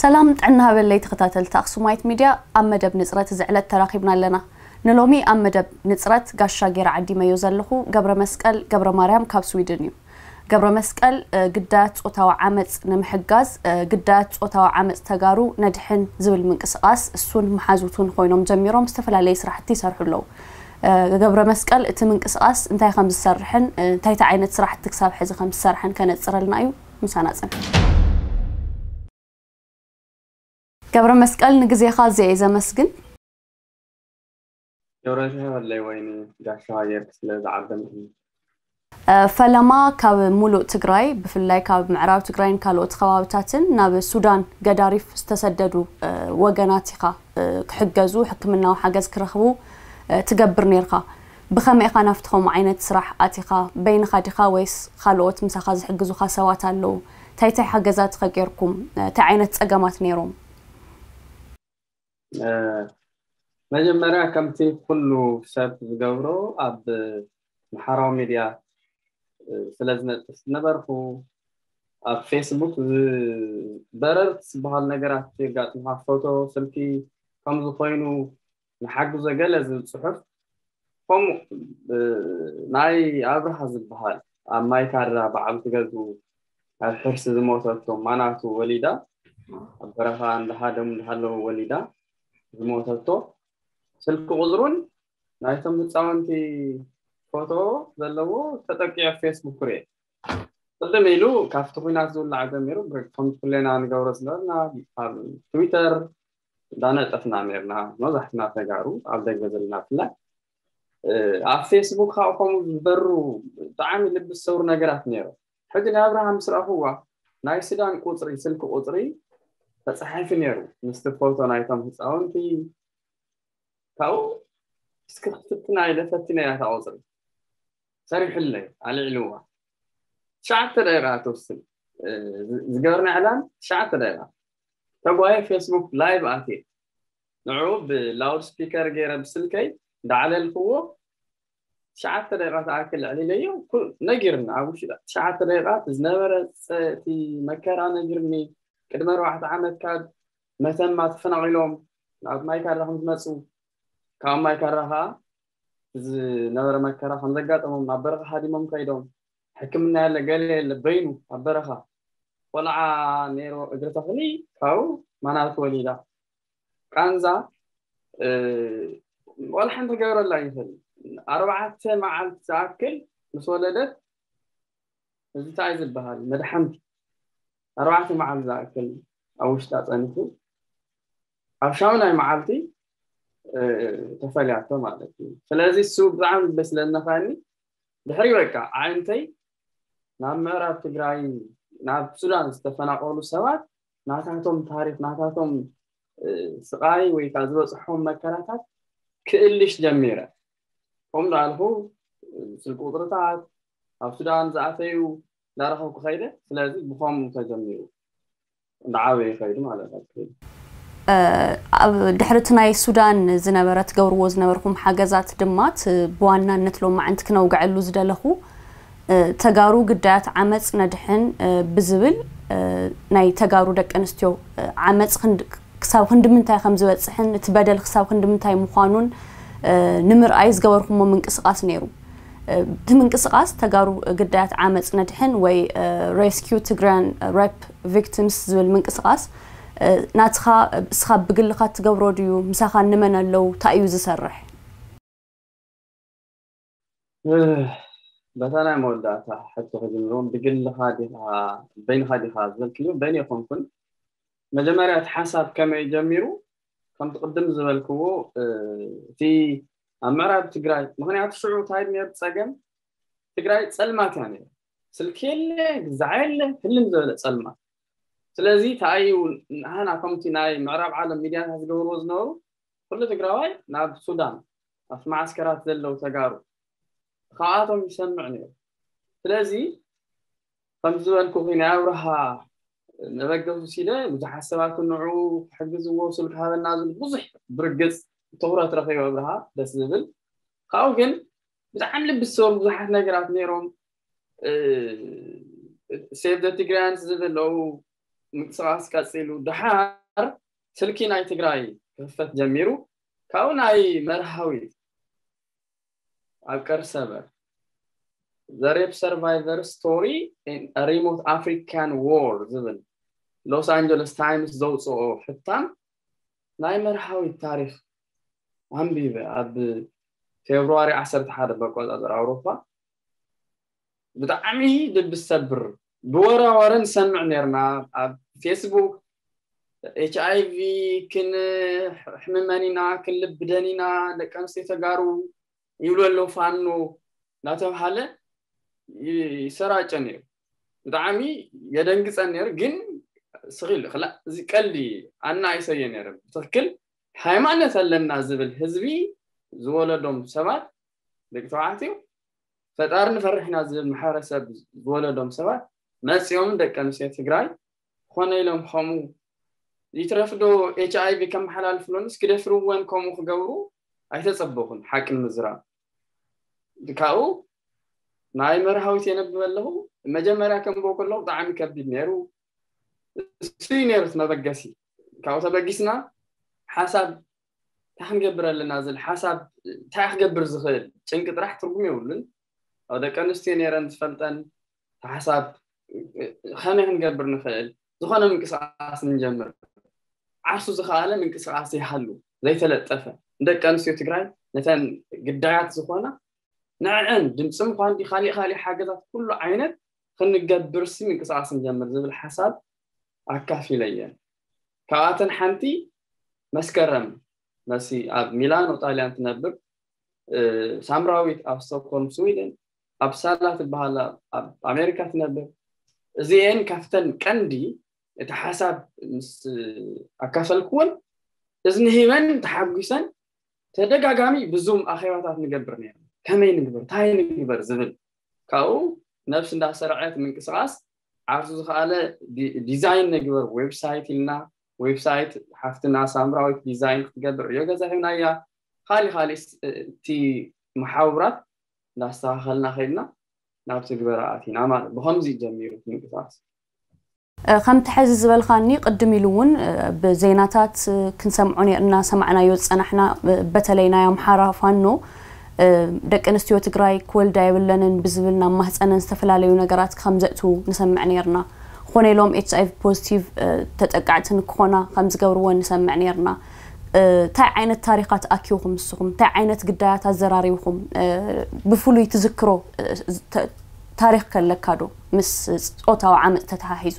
ሰላም ጥዕና ሃበለይ ተኸታተልቲ ኣኽሱማይት ሚድያ፣ ኣብ መደብ ንጽረት እዚ ዕለት ተራኺብና ኣለና። ንሎሚ ኣብ መደብ ንጽረት ጋሻ ገይረ ዓዲመዮ ዘለኹ ገብረ መስቀል ገብረ ማርያም ካብ ስዊድን እዩ። ገብረ መስቀል ግዳያት ጾታዊ ዓመጽ ንምሕጋዝ ግዳያት ጾታዊ ዓመጽ ተጋሩ ነድሕን ዝብል ምንቅስቓስ እሱን መሓዙቱን ኮይኖም ጀሚሮም ዝተፈላለየ ስራሕቲ ይሰርሑ ኣለዉ። ገብረ መስቀል እቲ ምንቅስቓስ እንታይ ከም ዝሰርሕን እንታይ ዓይነት ስራሕቲ ክሳብ ሕዚ ከም ዝሰርሕን ከነጽረልና እዩ። ምሳና ጽንሑ። ገብረ መስቀል ንግዜኻ ኣዝየ እየ ዘመስግን። ገብረሽሃለይ ወይኒ ጋሻ ጌርክ ስለ ዝዓደምክኒ። ፈለማ ካብ ሙሉእ ትግራይ ብፍላይ ካብ ምዕራብ ትግራይን ካልኦት ከባብታትን ናብ ሱዳን ገዳሪፍ ዝተሰደዱ ወገናት ኢኻ ክሕገዙ ሕክምናዊ ሓገዝ ክረኽቡ ትገብር ነርካ። ብኸመይ ኢኻ ናብቲ ከምኡ ዓይነት ስራሕ ኣቲኻ? በይንኻ ዲኻ ወይስ ካልኦት ምሳኻ ዝሕግዙኻ ሰባት ኣለዉ? እንታይ እንታይ ሓገዛት ኸ ጌርኩም? እንታይ ዓይነት ጸገማት ነይሮም? መጀመርያ ከምቲ ኩሉ ሰብ ዝገብሮ ኣብ ማሕበራዊ ሚድያ ስለ ዝነጥፍ ዝነበርኩ ኣብ ፌስቡክ በረርቲ ዝበሃል ነገራት የጋጥምካ፣ ፎቶ፣ ስልኪ ከምዚ ኮይኑ ንሓግዞ ገለ ዝብል ፅሑፍ ከምኡ ናይ ኣብርሃ ዝበሃል ኣብ ማይካድራ በዓልቲ ገዝኡ ኣብ ሕርሲ ዝሞተቶ ማናቱ ወሊዳ ኣብ በረኻ እንዳሃደሙ እንዳሃለዉ ወሊዳ ዝሞተቶ ስልኪ ቁፅሩን ናይቶም ህፃውንቲ ፎቶ ዘለዎ ተጠቂዐ ፌስቡክ ርኤ። ቅድም ኢሉ ካብቲ ኲናት ዝውላዕ ጀሚሩ ከም ኩሌና ንገብሮ ዝነበርና ኣብ ትዊተር እንዳነጠፍና ነርና መብዛሕትና ተጋሩ ኣብ ደገ ዘለና ብፍላይ ኣብ ፌስቡክ ካብኡ ከምኡ ዝበሩ ብጣዕሚ ልቢ ዝሰብሩ ነገራት ነይሩ። ሕጂ ናይ ኣብርሃም ምስ ረእኽዋ ናይ ሱዳን ቁፅሪ ስልኪ ቁፅሪ ተፃሒፉ ነይሩ ምስቲ ፎቶ ናይቶም ህፃውንቲ ካብኡ እስኪ ክትፍትና ኢለ ፈቲነ እያ እታ ቁፅሪ ሰሪሑለይ ኣልዒልዋ ትሽዓተ ደቂቃ ትውስን ዝገበርና ዕላን ትሽዓተ ደቂቃ ተጓየ ፌስቡክ ላይቭ ኣትየ ንዑ ብላውድ ስፒከር ገይረ ብስልከይ እንዳዓለልክዎ ትሽዓተ ደቂቃ ተኣክል ኣዕሊለዮ ነጊርኒ ኣብ ውሽጢ ትሽዓተ ደቂቃ ዝነበረ እቲ መከራ ነጊርኒ ቅድሚ ኣርባዕተ ዓመት ካብ መተማ ተፈናቒሎም ናብ ማይካድራ ከም ዝመፁ ካብ ማይካድራ ከዓ ዝነበረ መከራ ከም ዘጋጠሞም ናብ በረኻ ሃዲሞም ከይዶም ሕክምና የለ ገለ የለ በይኑ ኣብ በረኻ ቆልዓ ነይሮ እግሪ ተኽሊ ካብኡ ማናቱ ወሊዳ ቃንዛ ቆልዓ እንተገብረላ ይኽእል ኣርባዕተ መዓልቲ ዝኣክል ምስ ወለደት እዚ እንታይ ዝበሃል መድሓንቲ ኣርባዕተ መዓልቲ ዝኣክል ኣብ ውሽጣ ፀኒሑ ኣብ ሻሙናይ መዓልቲ ተፈልያቶ ማለት እዩ። ስለዚ እሱ ብጣዕሚ ልበ ስለዝነካኒ ድሕሪ በቃ ኣዒንተይ ናብ ምዕራብ ትግራይ ናብ ሱዳን ዝተፈናቀሉ ሰባት ናታቶም ታሪክ ናታቶም ስቃይ ወይ ከዓ ዝበፅሖም መከራታት ክእልሽ ጀሚረ። ከምኡ እንዳልኩ ስልኪ ቁፅርታት ኣብ ሱዳን ዝኣተዩ እንዳረኸብኩ ከይደ። ስለዚ ብኸምኡ ተጀሚሩ እንዳዓበየ ከይዱ ማለት እዩ። ኣብ ድሕሪ እቲ ናይ ሱዳን ዝነበረ ትገብርዎ ዝነበርኩም ሓገዛት ድማ እቲ ብዋናነት ሎማዕንቲ ክነውግዐሉ ዝደለኹ ተጋሩ ግዳያት ዓመፅ ነድሕን ብዝብል ናይ ተጋሩ ደቂ ኣንስትዮ ዓመፅ ክሳብ ክንዲ ምንታይ ከም ዝበፅሕን እቲ በደል ክሳብ ክንዲ ምንታይ ምዃኑን ንምርኣይ ዝገበርኩሞ ምንቅስቃስ ነይሩ። እቲ ምንቅስቃስ ተጋሩ ግዳያት ዓመፅ ነድሕን ወይ Rescue Tigrayan Rape Victims ዝብል ምንቅስቃስ ናትኻ እስኻ ብግልኻ ትገብሮ ድዩ? ምሳኻ እንመን ኣለዉ? እንታይ እዩ ዝሰርሕ? በታ ናይ መወዳእታ ሕቶ ክጅምሮ ብግልኻ ዲኻ በይንኻ ዲኻ ዝበልክዮ በይነ ይኮንኩን መጀመርያ እቲ ሓሳብ ከመይ ጀሚሩ ከምቲ ቅድም ዝበልክዎ እቲ ኣብ ምዕራብ ትግራይ ምክንያቱ ሽዑ እንታይ ነሩ ፀገም ትግራይ ፀልማት እያ ነሩ ስልኪ የለ ግዛዕ የለ ህልም ዝበለ ፀልማት ስለዚ ተኣዩ ንሃና ከምቲ ናይ ምዕራብ ዓለም ሚድያታት ዝገብርዎ ዝነበሩ ኩሉ ትግራዋይ ናብ ሱዳን ኣብቲ መዓስከራት ዘለዉ ተጋሩ ካብኣቶም ይሰምዕ ነይሩ። ስለዚ ከምዚ ዝበልኩኺ ናይ ኣብርሃ መበገሲ ኢለ ብዙሓት ሰባት ንዑ ክሕግዝዎ ስልኪ ሃበና ዝብል ብዙሕ ብርግፅ ትኹረት ረኺቡ ኣብርሃ ደስ ዝብል ካብኡ ግን ብጣዕሚ ልቢ ዝሰብሩ ብዙሓት ነገራት ነይሮም Save the Tigrayans ዝብል ኣለዉ ምንቅስቃስ ቀፂሉ፣ ድሓር ስልኪ ናይ ትግራይ ክኽፈት ጀሚሩ። ካብኡ ናይ መርሃዊት ኣብ ቀርሰበር The Rape Survivor Story in a Remote African War ዝብል ሎስ ኣንጀለስ ታይምስ ዘውፅኦ ሕታም ናይ መርሃዊት ታሪክ ኣንቢበ። ኣብ ፌብሩዋሪ ዓሰርተ ሓደ በቆፃፅር ኣውሮፓ ብጣዕሚ ልቢ ዝሰብር ብወረ ወረ ንሰምዕ ነርና። ኣብ ፌስቡክ ኤች ኣይ ቪ ክንሕምመን ኢና፣ ክንልብደን ኢና፣ ደቂ ኣንስትዮ ተጋሩ ይብሉ ኣለዉ ፋኖ እናተባሃለ ይሰራጨ ነይሩ። ብጣዕሚ የደንግፀን ነይሩ። ግን ስኺል እዚ ቀልዲ ኣናይሰየ ነይረ። ብትክክል ሃይማኖት ኣለና ዝብል ህዝቢ ዝወለዶም ሰባት፣ ደቂ ተባዕትዮ፣ ፈጣሪ ንፈርሕ ኢና ዝብል ማሕበረሰብ ዝወለዶም ሰባት መፂኦም ደቂ ኣንስትዮ ትግራይ ኮነ ኢሎም ከምኡ ይትረፍ ዶ ኤች ኣይ ቪ ከመሓላልፍሎንስ ክደፍርወን ከምኡ ክገብሩ ኣይተፀበኹን። ሓቂ ንምዝራብ ካብኡ ናይ መርሃዊት የነብብ ኣለኹ። መጀመርያ ከንብቦ ከለኹ ብጣዕሚ ከቢድ ነይሩ። እሱ እዩ ነይሩ እቲ መበገሲ። ካብኡ ተበጊስና ሓሳብ እንታይ ክንገብር ኣለና ዝብል ሓሳብ እንታይ ክገብር ዝኽእል ጭንቂ ጥራሕ ትርጉም የብሉን። ኣብ ደቂ ኣንስትዮ ነይረን ዝፈልጠን ሓሳብ ከመይ ክንገብር ንኽእል ዝኾነ ምንቅስቃስ ንጀምር። ዓርሱ ዝኸኣለ ምንቅስቃስ ይሃሉ ዘይተለጠፈ ንደቂ ኣንስትዮ ትግራይ ነተን ግዳያት ዝኾና ንዕን ድምፂ ምኳን ዲ ካሊእ ካሊእ ሓገዛት ኩሉ ዓይነት ክንገብር ሲ ምንቅስቃስ ንጀምር ዝብል ሓሳብ ኣካፊለየን። ካብኣተን ሓንቲ መስከረም መሲ ኣብ ሚላኖ ጣልያን ትነብር፣ ሳምራዊት ኣብ ስቶክሆልም ስዊድን፣ ኣብ ሳላ ትበሃል ኣብ ኣሜሪካ ትነብር። እዚኤን ካብተን ቀንዲ እቲ ሓሳብ ምስ ኣካፈልክወን እዝኒ ሂበን ተሓጒሰን ተደጋጋሚ ብዙም ኣኼባታት ንገብር ነይሩ። ከመይ ንግበር፣ እንታይ ንግበር ዝብል ካብኡ ነብስ እንዳሰርዐት ምንቅስቃስ ዓርሱ ዝኸኣለ ዲዛይን ንግበር ዌብሳይት ኢልና ዌብሳይት ሓፍትና ሳምራዊት ዲዛይን ክትገብር ዕዮ ገዛ ሂብናያ። ካሊእ ካሊእ እቲ መሓውራት እንዳስተኻኸልና ከይድና ናብ ትግበራ ኣቲና ማለት ብከምዚ ጀሚሩ ምንቅስቃስ። ከምቲ ሕዚ ዝበልካኒ ቅድም ኢሉ እውን ብዜናታት ክንሰምዖ እናሰማዕናዮ ዝፀናሕና በተለይ ናይ ኣምሓራ ፋኖ ደቂ ኣንስትዮ ትግራይ ክወልዳ የብለንን ብዝብል ናብ ማህፀነን ዝተፈላለዩ ነገራት ከም ዘእትዉ ንሰምዕ ነርና። ኮነ ኢሎም ኤች ኣይቪ ፖዚቲቭ ተጠቃዕቲ ንክኾና ከም ዝገብርዎ ንሰምዕ ነርና። እንታይ ዓይነት ታሪኻት ኣኪብኹም ንስኹም? እንታይ ዓይነት ግዳያት ኣዘራሪብኹም? ብፍሉይ ትዝክሮ ታሪኽ ከለካ ዶ ምስ ፆታዊ ዓመፅ ተተሓሒዙ?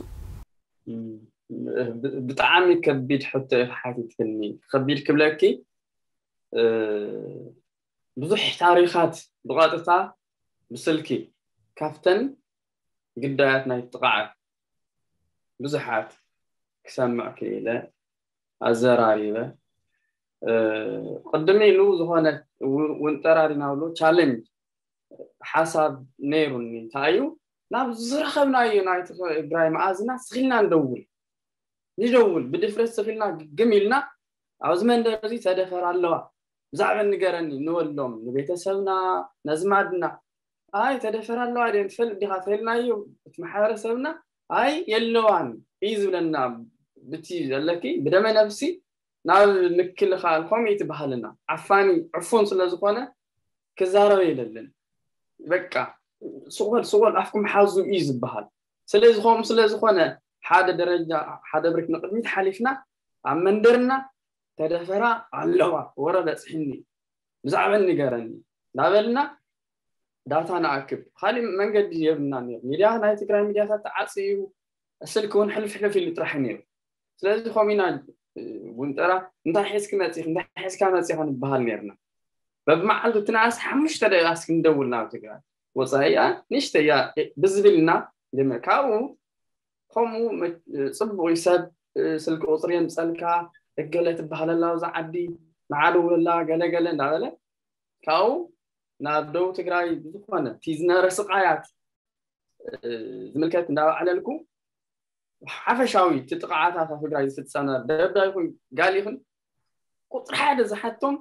ብጣዕሚ ከቢድ ሕቶ ኢኺ ሓቲትክኒ። ከቢድ ክብለኪ ብዙሕ ታሪኻት ብቐጥታ ብስልኪ ካብተን ግዳያት ናይ ጥቕዓት ብዙሓት ክሰምዕ ክኢለ ኣዘራሪበ። ቅድም ኢሉ ዝኾነ ውንጠራ ዲና ብሎ ቻለንጅ ሓሳብ ነይሩኒ። እንታይ እዩ ናብ ዝረኸብናዮ ናይ ትግራይ መኣዝናት ስኺልና ንደውል ንደውል ብድፍረት ስኺልና ግግም ኢልና ኣብዚ መንደር እዚ ተደፈር ኣለዋ ብዛዕባ ንገረኒ ንበሎም ንቤተሰብና ነዝማድና ኣይ ተደፈር ኣለዋ ድየን ትፈልጥ ዲኻ ተልናዮ እቲ ማሕበረሰብና ኣይ የለዋን እዩ ዝብለና ብቲ ዘለኪ ብደመ ነብሲ ናብ ምክልኻል ከምኡ ትበሃልና ዓፋኒ ዕፉን ስለ ዝኾነ ክዛረበ የለልን በቃ ስቆል ስቆል ኣፍኩም ሓዙ እዩ ዝበሃል ስለዚ ከምኡ ስለ ዝኾነ ሓደ ደረጃ ሓደ ብሪክ ንቅድሚት ሓሊፍና ኣብ መንደርና ተደፈራ ኣለዋ ወረ በፅሕኒ ብዛዕበን ንገረኒ እናበልና ዳታ ንኣክብ ካሊእ መንገዲ የብልና ነይሩ ሚድያ ናይ ትግራይ ሚድያታት ተዓፅዩ ስልኪ እውን ሕልፍ ሕልፍ ኢሉ ጥራሕ ነይሩ ስለዚ ከምኡ ኢና ውንጠራ እንታይ ሒዝኪ መፂኺ እንታይ ሒዝካ መፂኻ ንበሃል ነይርና በብመዓልቱ ትንኣስ ሓሙሽተ ደቂቃ እስኪ ንደውል ናብ ትግራይ ወፃኢያ ንሽተያ ብዝብልና ካብኡ ከምኡ ፅቡቅ እዩ ሰብ ስልኪ ቁፅሪ የምፀልካ እገለ ትበሃለላ ኣብዚ ዓዲ ንዓደውለላ ገለገለ እንዳበለ ካብኡ ናብ ደቡብ ትግራይ ብዝኾነ እቲ ዝነበረ ስቃያት ዝምልከት እንዳባዕለልኩ ሓፈሻዊ እቲ ጥቕዓታት ኣብ ትግራይ ዝፍፀመ ደብዳ ይኹን ጋል ይኹን ቁፅሪ ሓደ ዝሓቶም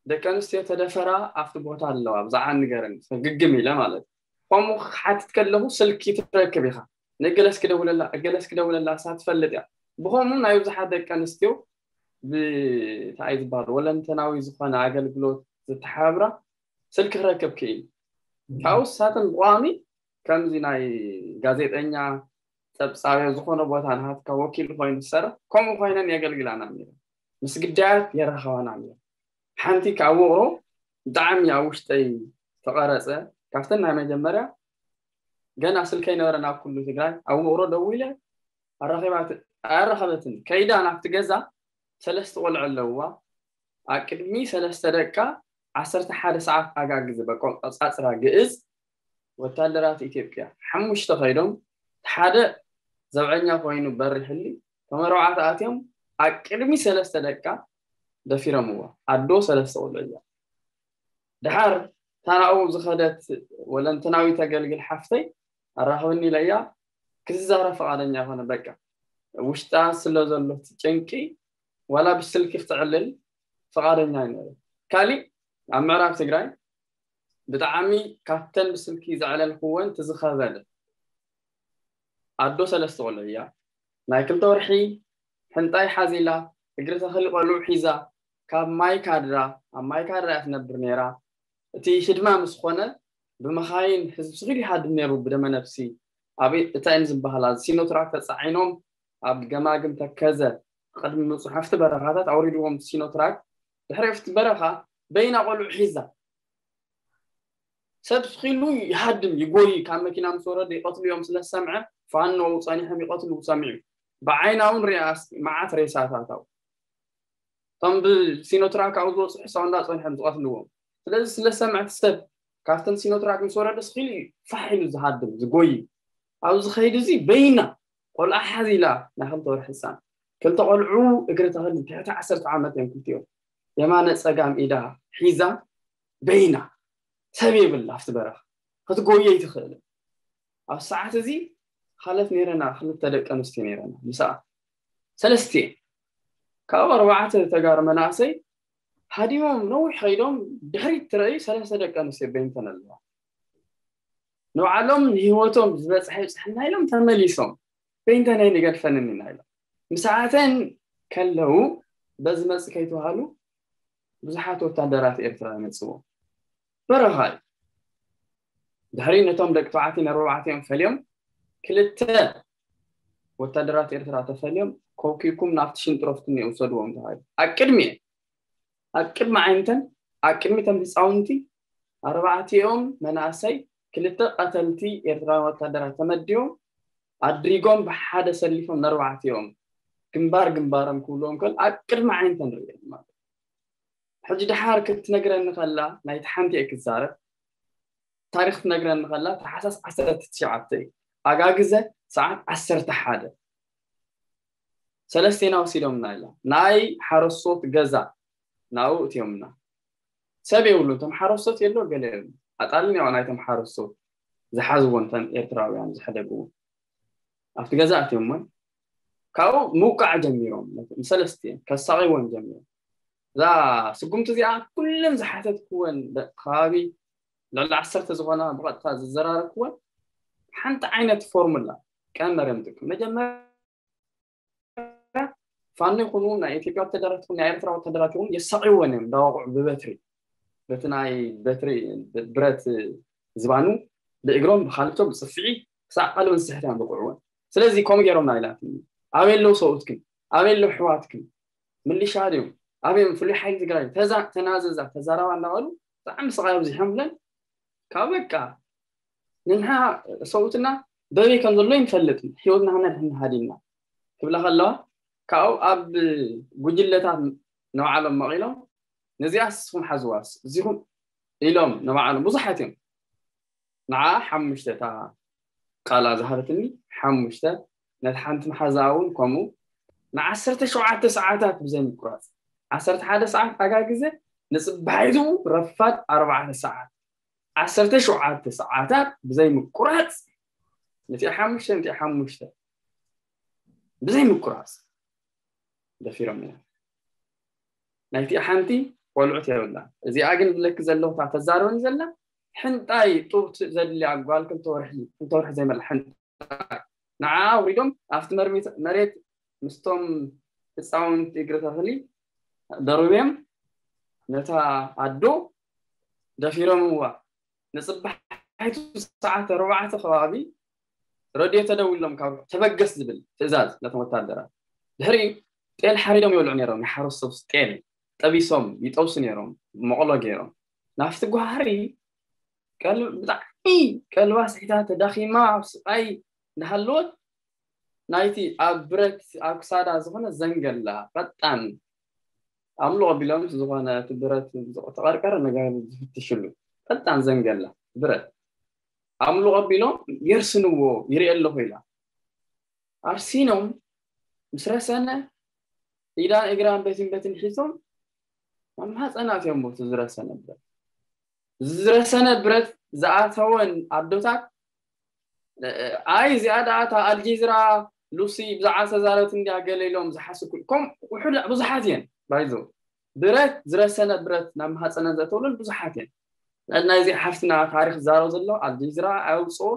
ደቂ ኣንስትዮ ተደፈራ ኣብቲ ቦታ ኣለዋ ብዛዕባ ንገረኒ ግግም ኢለ ማለት ከምኡ ክሓትት ከለኹ ስልኪ ትረክብ ኢኻ ንገለስ ክደውለላ ገለስ ክደውለላ እሳ ትፈልጥ እያ። ብኸምኡ ናይ ብዙሓት ደቂ ኣንስትዮ ብታይ ዝበሃል ወለንተናዊ ዝኾነ ኣገልግሎት ዝተሓብራ ስልኪ ክረክብ ክእል። ካብኡ ሳትን ብቋሚ ከምዚ ናይ ጋዜጠኛ ጸብጻብዮ ዝኾነ ቦታ ንሃትካ ወኪል ኮይኑ ዝሰርሕ ከምኡ ኮይነን የገልግላና ነይረን። ምስ ግዳያት የራኸባና ነይረን። ሓንቲ ካብ ውቕሮ ብጣዕሚ ኣብ ውሽጠይ ተቐረጸ። ካብተን ናይ መጀመርያ ገና ስልከይ ነበረ ናብ ኩሉ ትግራይ ኣብ ውቕሮ ደዊለ ኣራኺባት ኣያራኸበትን ከይዳ ናብቲ ገዛ ሰለስተ ቆልዑ ኣለውዋ ኣቅድሚ ሰለስተ ደቃ ዓሰርተ ሓደ ሰዓት ኣጋግዘ በቆጻጽራ ግእዝ ወታደራት ኢትዮጵያ ሓሙሽተ ከይዶም ሓደ ዘብዐኛ ኮይኑ በሪሕሊ ተመረውዓት ኣትዮም ኣቅድሚ ሰለስተ ደቃ ደፊረምዋ ኣዶ ሰለስተ ቆልዑ እያ። ድሓር ታናኡ ዝኸደት ወለንተናዊ ተገልግል ሓፍተይ ኣራኽብኒ ኢለያ ክትዛረብ ፈቓደኛ ይኮነ በቃ ውሽጣ ስለ ዘሎ ጭንቂ ዋላ ብስልኪ ክትዕልል ፈቓደኛ ይነበረ። ካሊእ ኣብ ምዕራብ ትግራይ ብጣዕሚ ካብተን ብስልኪ ዘዕለልክወን ትዝኸበለ ኣዶ ሰለስተ ቆልዑ እያ። ናይ ክልተ ወርሒ ሕንጣይ ሓዚላ እግሪ ተኽሊ ቆልዑ ሒዛ ካብ ማይ ካድራ ኣብ ማይ ካድራ እያ ትነብር ነይራ። እቲ ህድማ ምስ ኮነ ብመኻይን ህዝቢ ስኺሉ ይሃድም ነይሩ ብደመ ነፍሲ። ኣብ እተን ዝበሃላ ሲኖትራክ ተፃዒኖም ኣብ ገማግም ተከዘ ቅድሚ ምብፅሖም ኣብቲ በረኻታት ኣውሪድዎም ሲኖትራክ ድሕሪ ኣብቲ በረኻ በይና ቆልዑ ሒዛ ሰብ ስኺሉ ይሃድም ይጎይ ካብ መኪና ምስ ወረደ ይቐትሉ እዮም ስለ ዝሰምዐ ፋኖ ጸኒሖም ይቐትሉ ሰሚዑ ብዓይና እውን ሪኣ መዓት ሬሳታት ኣው እቶም ብሲኖትራክ ኣብኡ ዝበፅሑ ሰው እንዳ ጸኒሖም ዝቐትልዎም ስለዚ ስለ ዝሰምዐ እቲ ሰብ ካብተን ሲኖትራክ ምስ ወረደ ስኺሉ እዩ ፋሕ ኢሉ ዝሃድም ዝጎይ ኣብዚ ኸይዲ እዚ በይና ቆልዓ ሓዚላ ናይ ክልተ ወርሒ ህፃን ክልተ ቆልዑ እግሪ ተኽሊ ትሕቲ ዓሰርተ ዓመት እዮም ክልቲኦም የማነ ፀጋም ኢዳ ሒዛ በይና ሰብ የብላ ኣብቲ በረኻ ክትጎየ ኣይትኽእልን ኣብ ሰዓት እዚ ሃለት ነይረና ክልተ ደቂ ኣንስትዮ ነይረና ምስኣ ሰለስቲኤን ካብ ኣርባዕተ ተጋሩ መናእሰይ ሃዲሞም ነዊሕ ከይዶም ድሕሪት ትረእዩ ሰለስተ ደቂ ኣንስትዮ በይንተን ኣለዋ ንባዕሎም ንህይወቶም ዝበፅሐ ይብፅሐና ኢሎም ተመሊሶም በይንተን ኣይንገድፈንን ኢና ኢሎም ምስኣተን ከለዉ በዚ መፅእ ከይተባሃሉ ብዙሓት ወታደራት ኤርትራ ይመፅዎም በረኻ እዩ ድሕሪ ነቶም ደቂ ተባዕትዮ ነርባዕቲኦም ፈልዮም ክልተ ወታደራት ኤርትራ ተፈልዮም ኮኪኩም ናብቲ ሽንጥሮፍትኒ ውሰድዎም ተባሂሉ ኣብ ቅድሚኤን ኣብ ቅድሚ ዓይንተን ኣብ ቅድሚ ተም ህፃውንቲ ኣርባዕቲኦም መናእሰይ ክልተ ቀተልቲ ኤርትራውያን ወታደራት ተመዲቦም ኣድሪጎም ብሓደ ሰሊፎም ነርባዕቲኦም ግንባር ግንባሮም ክብልዎም ከል ኣብ ቅድሚ ዓይንተን ርእየን ማለት ሕጂ ድሓር ክትነግረኒ ከላ ናይቲ ሓንቲ እየ ክዛረብ ታሪክ ክትነግረኒ ከላ ታሓሳስ ዓሰርተ ትሽዓተ እዩ ኣጋግዘ ሰዓት ዓሰርተ ሓደ ሰለስቴና ወሲዶምና ኢላ ናይ ሓረስቶት ገዛ ናብኡ እትዮምና ሰብ የብሉ እቶም ሓረስቶት የሎ ገለ የብሉ ኣጣልን ያው ናይቶም ሓረስቶት ዝሓዝዎ እንተን ኤርትራውያን ዝሕደግዎ ኣብቲ ገዛ እትዮሞን ካብኡ ምውቃዕ ጀሚሮም ንሰለስቲኤን ከሳቂወን ጀሚሮም እዛ ስጉምቲ እዚኣ ኩለን ዝሓተትክወን ደቂ ከባቢ ልዕሊ ዓሰርተ ዝኾና ብቐጥታ ዝዘራረብክወን ሓንቲ ዓይነት ፎርሙላ ቀመር እዮም ጥቅም መጀመርያ ፋኖ ይኹኑ ናይ ኢትዮጵያ ወተደራት ይኹን ናይ ኤርትራ ወተደራት ይኹን የሳቂወን እዮም እንዳወቕዑ ብበትሪ በቲ ናይ በትሪ ብረት ዝባኑ ብእግሮም ብካልቶም ብፅፍዒ ክሳዕ ቀልበን ዝስሕት እዮም ብቁዕወን ስለዚ ከምኡ ገይሮም ናይላትኒ ኣበይ ኣለዉ ሰብኡትክን ኣበይ ኣለዉ ኣሕዋትክን ምልሻ ድዮም ኣበዮም ፍሉይ ሓይሊ ትግራይ ተዛ ተናዘዛ ተዛረባ እናበሉ ብጣዕሚ ስቃይ ኣብዚሖም ብለን ካብ በቃ ንንሓ ሰብኡትና በበይ ከም ዘሎ ይንፈልጥ ህይወትና ክነድሕን ሃዲምና ክብላ ከለዋ ካብኡ ኣብ ጉጅለታት ንባዕሎም መቒሎም ነዚኣ ስኹም ሓዝዋስ እዚኹም ኢሎም ንባዕሎም ብዙሓት እዮም ንዓ ሓሙሽተ እታ ቃላ ዝሃበትኒ ሓሙሽተ ነቲ ሓንቲ መሓዛ እውን ከምኡ ንዓሰርተ ሸውዓተ ሰዓታት ብዘይ ምቁራፅ ዓሰርተ ሓደ ሰዓት ኣጋ ግዜ ንፅባሒቱ ረፋድ ኣርባዕተ ሰዓት ዓሰርተ ሸውዓተ ሰዓታት ብዘይ ምቁራፅ ነቲ ሓሙሽተ ነቲ ሓሙሽተ ብዘይ ምቁራፅ ደፊሮም እዮም ናይቲ ሓንቲ ቆልዑት የብላ እዚኣ ግን ብለኪ ዘለኹ እታ ተዛረበኒ ዘላ ሕንጣይ ጡብ ዘድልያ ጓል ክልተ ወርሒ ክልተ ወርሒ ዘይመላ ሕንጣይ ንዓ ኣውሪዶም ኣብቲ መርሚት መሬት ምስቶም ህፃውንቲ እግሪ ተኽሊ ደርብዮም ነታ ኣዶ ደፊሮምዋ። ንፅባሒቱ ሰዓት ኣርባዕተ ከባቢ ረድዮ ተደዊሎም ካብ ተበገስ ዝብል ትእዛዝ ነቶም ወታደራት። ድሕሪ ጤል ሓሪዶም ይበልዑ ነይሮም። ናይ ሓረስቶት ጤል ጠቢሶም ይጠብሱ ነይሮም፣ መቕሎ ገይሮም። ናብቲ ጓሃሪ ቀል- ብጣዕሚ ቀልባ ስሒታ ተዳኺማ ኣብ ስቃይ እንዳሃለወት ናይቲ ኣብ ብረት ኣብ ክሳዳ ዝኾነ ዘንገላ ፈጣን ኣምልኾ ቢሎም ዝኾነ እቲ ብረት ተቐርቀረ ነገር ዝፍትሽሉ ፈጣን ዘንገላ ብረት ኣምልኾ ቢሎም የርስንዎ ይርኢ ኣለኹ ኢላ ኣርሲኖም ምስ ረሰነ ኢዳን እግራን በትን በትን ሒዞም ኣብ ማህፀና ኣትዮም ቦቲ ዝረሰነ ብረት ዝረሰነ ብረት ዝኣተወን ኣዶታት ኣይ እዚኣ ደኣ እታ ኣልጀዚራ ሉሲ ብዛዕባ ተዛረብት እንዲያ ገለ ኢሎም ዝሓስኩ ከም ውሑድ ብዙሓት እየን ባይዞ ብረት ዝረሰነ ብረት ናብ ማህፀነን ዘእተውለን ብዙሓት እየን ናይዚ ሓፍትና ታሪክ ዝዛረብ ዘሎ ኣልጀዚራ ኣውፅኦ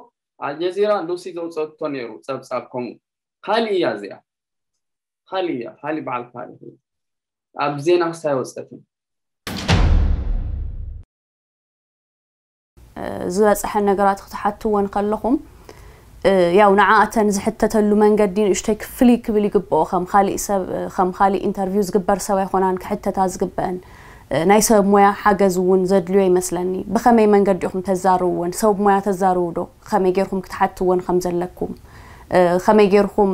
ኣልጀዚራ ሉሲ ዘውፀቶ ነይሩ ፀብፃብ ከምኡ ካሊእ እያ እዚኣ ካሊእ እያ ካሊእ በዓል ታሪክ እዩ ኣብ ዜና ክሳይ ወፀትን ዝበፅሐን ነገራት ክትሓትወን ከለኹም ያው ንዓኣተን ዝሕተተሉ መንገዲ ንእሽተይ ክፍሊ ክብል ይግብኦ ከም ካሊእ ሰብ ከም ካሊእ ኢንተርቪው ዝግበር ሰብ ኣይኮናን ክሕተታ ዝግበአን ናይ ሰብ ሞያ ሓገዝ እውን ዘድልዮ ይመስለኒ ብኸመይ መንገዲ ኢኹም ተዛርብወን ሰብ ሞያ ተዛርቡ ዶ ከመይ ጌርኩም ክትሓትወን ከም ዘለኩም ከመይ ጌርኩም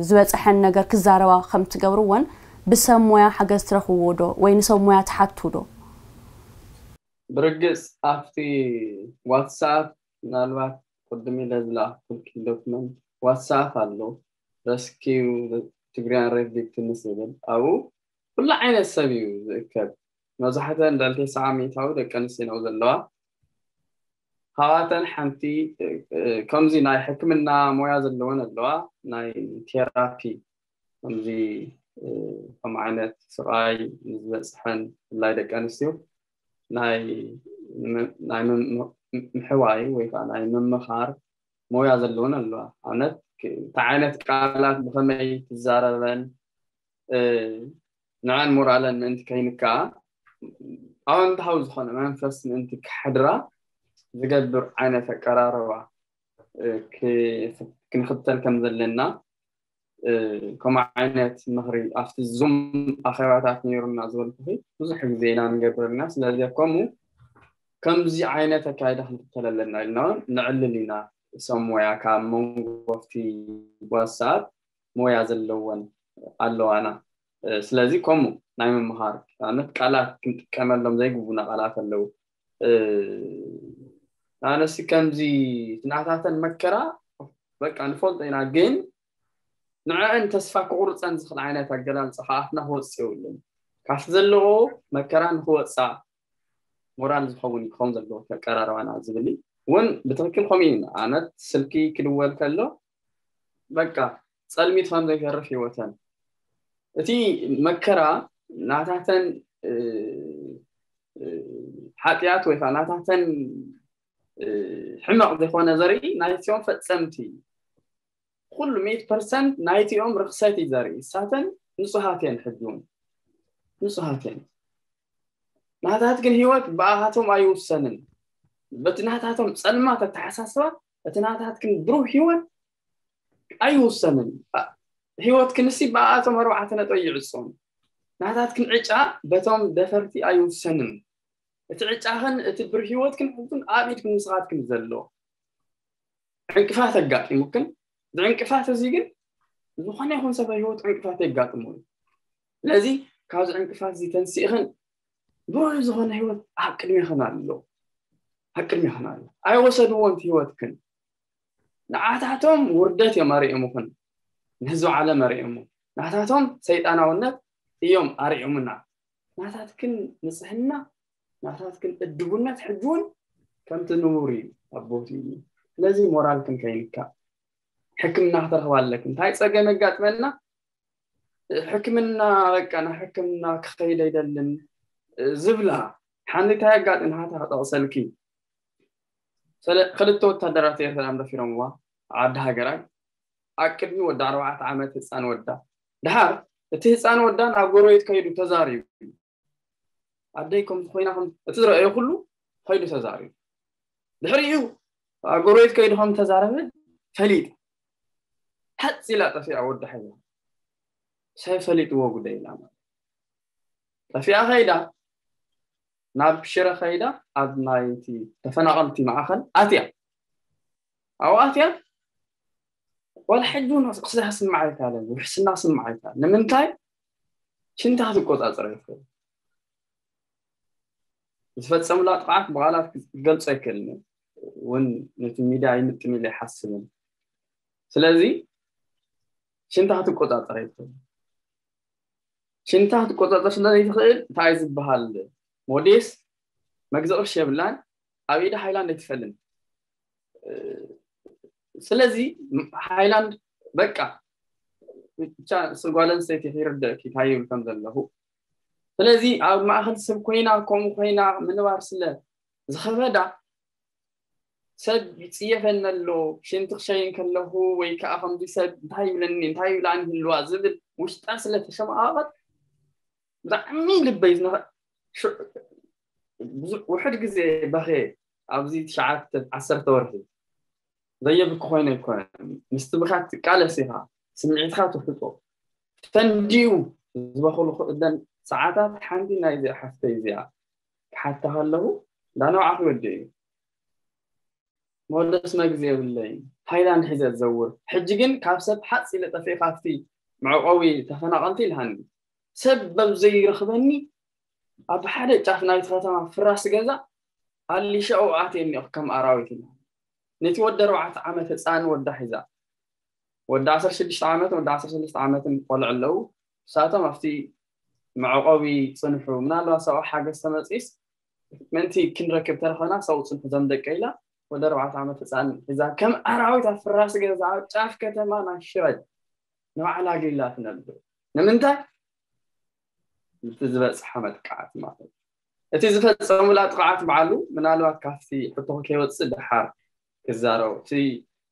ዝበፅሐን ነገር ክዛረባ ከም ትገብርወን ብሰብ ሞያ ሓገዝ ትረኽብዎ ዶ ወይ ንሰብ ሞያ ትሓቱ ዶ ብርግፅ ኣብቲ ዋትሳፕ ምናልባት ቅድም ኢለ ዝለኣኩልኪ ዶክመንት ዋትሳፕ ኣሎ rescue Tigrayan rape victims ዝብል ኣብኡ ኩሉ ዓይነት ሰብ እዩ ዝእከብ መብዛሕተን ልዕሊ ተስዓ ሚእታዊ ደቂ ኣንስትዮ ነው ዘለዋ ካብኣተን ሓንቲ ከምዚ ናይ ሕክምና ሞያ ዘለወን ኣለዋ ናይ ቴራፒ ከምዚ ከም ዓይነት ስቃይ ዝበፅሐን ብፍላይ ደቂ ኣንስትዮ ናይ ምሕዋይ ወይ ከዓ ናይ ምምኻር ሞያ ዘለወን ኣለዋ ኣብነት እንታይ ዓይነት ቃላት ብከመይ ትዛረበን ንዐን ሞራለን ምእንቲ ከይንካ ኣወንታዊ ዝኾነ መንፈስ ምእንቲ ክሕድራ ዝገብር ዓይነት ኣቀራረባ ክንኽተል ከም ዘለና ከምኡ ዓይነት ምኽሪ ኣብቲ ዙም ኣኼባታት ነይሩና ዝበልኩኺ ብዙሕ ግዜ ኢና ንገብር ኢና ስለዚ ከምኡ ከምዚ ዓይነት ኣካይዳ ክንክተል ኣለና ኢልና እውን ንዕልል ኢና ሰብ ሞያ ካብ መንጎ ኣብቲ ዋትስኣፕ ሞያ ዘለወን ኣለዋና ስለዚ ከምኡ ናይ ምምሃር ንኣብነት ቃላት ክንጥቀመሎም ዘይግቡና ቃላት ኣለዉ ኣነሲ ከምዚ ናታተን መከራ በቃ ንፈልጦ ኢና ግን ንዕአን ተስፋ ክቁርፀን ዝኽእል ዓይነት ኣገላልፃ ከኣፍና ክወፅእ የብሉን ካብቲ ዘለዎ መከራ ንክወፃ ሞራል ዝኸውን ክኸውን ዘለዎ ከቀራረባና ዝብል እውን ብትክክል ከምኡ እዩ ኣነት ስልኪ ክድወል ከሎ በቃ ፀልሚት ከም ዘይተርፍ ህይወተን እቲ መከራ ናታተን ሓጢኣት ወይ ከዓ ናታተን ሕመቕ ዝኾነ ዘርኢ ናይቲኦም ፈፀምቲ ኩሉ ሚእት ፐርሰንት ናይቲኦም ርክሰት እዩ ዘርኢ እሳተን ንፁሃት እየን ሕጂ እውን ንፁሃት እየን ናታት ግን ህይወት ብኣሃቶም ኣይውሰንን በቲ ናታቶም ፀልማት ኣተሓሳስባ እቲ ናታት ግን ብሩህ ህይወት ኣይውሰንን ህይወት ክንሲ ብኣቶም ኣርባዕተ ነጥቢ ይዕፆም ናታት ግን ዕጫ በቶም ደፈርቲ ኣይውሰንን እቲ ዕጫኽን እቲ ብር ህይወትክን ሕቱን ኣብ ኢድክን ንስኻትክን ዘሎ ዕንቅፋት ኣጋጢሙክን ብዕንቅፋት እዚ ግን ዝኾነ ይኹን ሰብ ህይወት ዕንቅፋት የጋጥሙ እዩ ስለዚ ካብዚ ዕንቅፋት እዚ ተንሲእኽን ብሩህ ዝኾነ ህይወት ኣብ ቅድሜኽን ኣሎ ኣብ ቅድሜኽን ኣሎ ኣይወሰድዎ ንቲ ህይወትክን ንዓታቶም ውርደት እዮም ኣርእሙኽን ንህዝቢ ዓለም ኣርእሙ ናታቶም ሰይጣናውነት እዮም ኣርእሙና ናታትክን ንፅህና ናታትክን እድቡነት ሕጂ እውን ከምቲ ንቡር እዩ ኣቦት እዩ ስለዚ ሞራልክን ከይንካ ሕክምና ክትረኽባ ኣለክ እንታይ ፀገም የጋጥመና ሕክምና በቃ ናብ ሕክምና ክኸይድ ኣይደልን ዝብላ ሓንቲ እንታይ ኣጋጥም ናታ ክጠቕሰልኪ ክልተ ወታደራት ኤርትራ ደፊሮምዋ ዓዲ ሃገራይ ኣብ ቅድሚ ወዲ ኣርባዕተ ዓመት ህፃን ወዳ። ድሓር እቲ ህፃን ወዳ ናብ ጎረቤት ከይዱ ተዛሪቡ፣ ኣደይ ከምዚ ኮይና ከም እቲ ዝረኣዮ ኩሉ ከይዱ ተዛሪቡ። ድሕሪኡ ኣብ ጎረቤት ከይዱ ከም ተዛረበ ፈሊጥ። ሓፂ ኢላ ጠፊኣ ወዳ ሒዛ። ሰብ ፈሊጥዎ ጉዳይ ኢላ ማለት። ጠፊኣ ከይዳ፣ ናብ ሽረ ከይዳ፣ ኣብ ናይቲ ተፈናቐልቲ ማእኸል ኣትያ። ኣብኡ ኣትያ ዋላ ሕጂ እውን ክስራሕ ስምዓይካ ኣለ፣ ውሕስና ስምዓይካ። ንምንታይ? ሽንታ ክትቆፃፀር ኣይትኽእል። ዝፈፀሙላ ጥቕዓት ብቓላት ክትገልጾ ኣይክእልን እዩ። እውን ነቲ ሚድያ ይምጥን ኢለ ይሓስብን። ስለዚ ሽንታ ክትቆፃፀር ኣይትኽእል። ሽንታ ክትቆፃፀር ስለ ዘይትኽእል እንታይ ዝበሃል ሞዴስ መግዛእ ቅርሺ የብላን፣ ኣብ ኢዳ ሃይላንድ ኣይትፈልጥን። ስለዚ ሃይላንድ በቃ ብቻ ጓል ኣንስተይቲ ይርደእኪ እንታይ ይብል ከም ዘለኹ። ስለዚ ኣብ ማእኸል ሰብ ኮይና ከምኡ ኮይና ምንባር ስለ ዝኸበዳ ሰብ ይፅየፈኒ ኣሎ፣ ሽንቲ ክሸይን ከለኹ ወይ ከዓ ከምዚ ሰብ እንታይ ይብለኒ እንታይ ይብላኒ ህልዋ ዝብል ውሽጣ ስለ ተሸማቐቐት ብጣዕሚ ልበይ ዝነኸ ውሕድ ግዜ በኸ ኣብዚ ትሽዓተ ዓሰርተ ወርሒ ዘየብኪ ኮይነ ኣይኮነን። ምስቲ ብካ ትቃለስ ኢኻ፣ ስምዒትካ ትሕጦ። ፈንዲኡ ዝበኽሉ ክእለን ሰዓታት ሓንቲ ናይ እዚኣ ሓፍተይ እዚኣ ክሓታ ከለኹ እንዳነውዓኹ ወዲ እዩ። መወደስ መግዚ የብለይ ሃይላንድ ሒዘ ዝዘውር። ሕጂ ግን ካብ ሰብ ሓፂ ኢለ ጠፊእ ካብቲ መዕቆቢ ተፈናቐልቲ ኢልሃኒ። ሰብ በብ ዘይረኽበኒ ኣብ ሓደ ጫፍ ናይቲ ከተማ ፍራስ ገዛ ኣሊሻኡ ኣትየ እኒኦ ከም ኣራዊት ኢለ። ነቲ ወዲ ኣርባዕተ ዓመት ህፃን ወዳ ሒዛ ወዲ ዓሰርተ ሽዱሽተ ዓመትን ወዲ ዓሰርተ ሰለስተ ዓመትን ቆልዑ ኣለዉ። ንሳቶም ኣብቲ መዕቆቢ ፅንሑ፣ ምናልባት ሰብኣዊ ሓገዝ ተመፂስ ምእንቲ ክንረክብ ተረኸና ሰው ፅንሑ ዘም ደቀ ኢላ ወደ ኣርባዕተ ዓመት ህፃን ሒዛ ከም ኣራዊት ኣብ ፍራስ ገዛ ኣብ ጫፍ ከተማ ናይ ሽረ ንባዕላ ገይላ ትነብር። ንምንታይ? እቲ ዝበፅሓ መጥቃዕቲ ማለት እዩ። እቲ ዝፈፀሙላ ጥቕዓት በዓሉ ምናልባት ካብቲ ሕቶ ከይወፅእ ድሓር ክዛረቡ፣ እቲ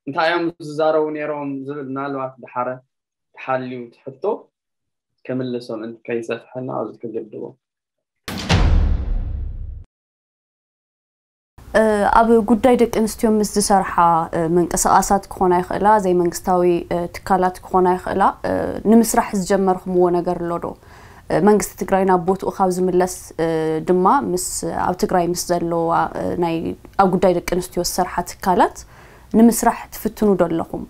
እንታይ እዮም ዝዛረቡ ነይሮም ዝብል ምናልባት ድሓረ ተሓልዩ እቲ ሕቶ ክምልሶም እንት ከይሰፍሐና ኣብዚ ክግድቦ። ኣብ ጉዳይ ደቂ ኣንስትዮ ምስ ዝሰርሓ ምንቅስቃሳት ክኾና ይኽእላ፣ ዘይመንግስታዊ ትካላት ክኾና ይኽእላ፣ ንምስራሕ ዝጀመርኩምዎ ነገር ኣሎ ዶ? መንግስቲ ትግራይ ናብ ቦትኡ ካብ ዝምለስ ድማ ምስ ኣብ ትግራይ ምስ ዘለዋ ናይ ኣብ ጉዳይ ደቂ ኣንስትዮ ዝሰርሓ ትካላት ንምስራሕ ትፍትኑ ዶ ኣለኹም?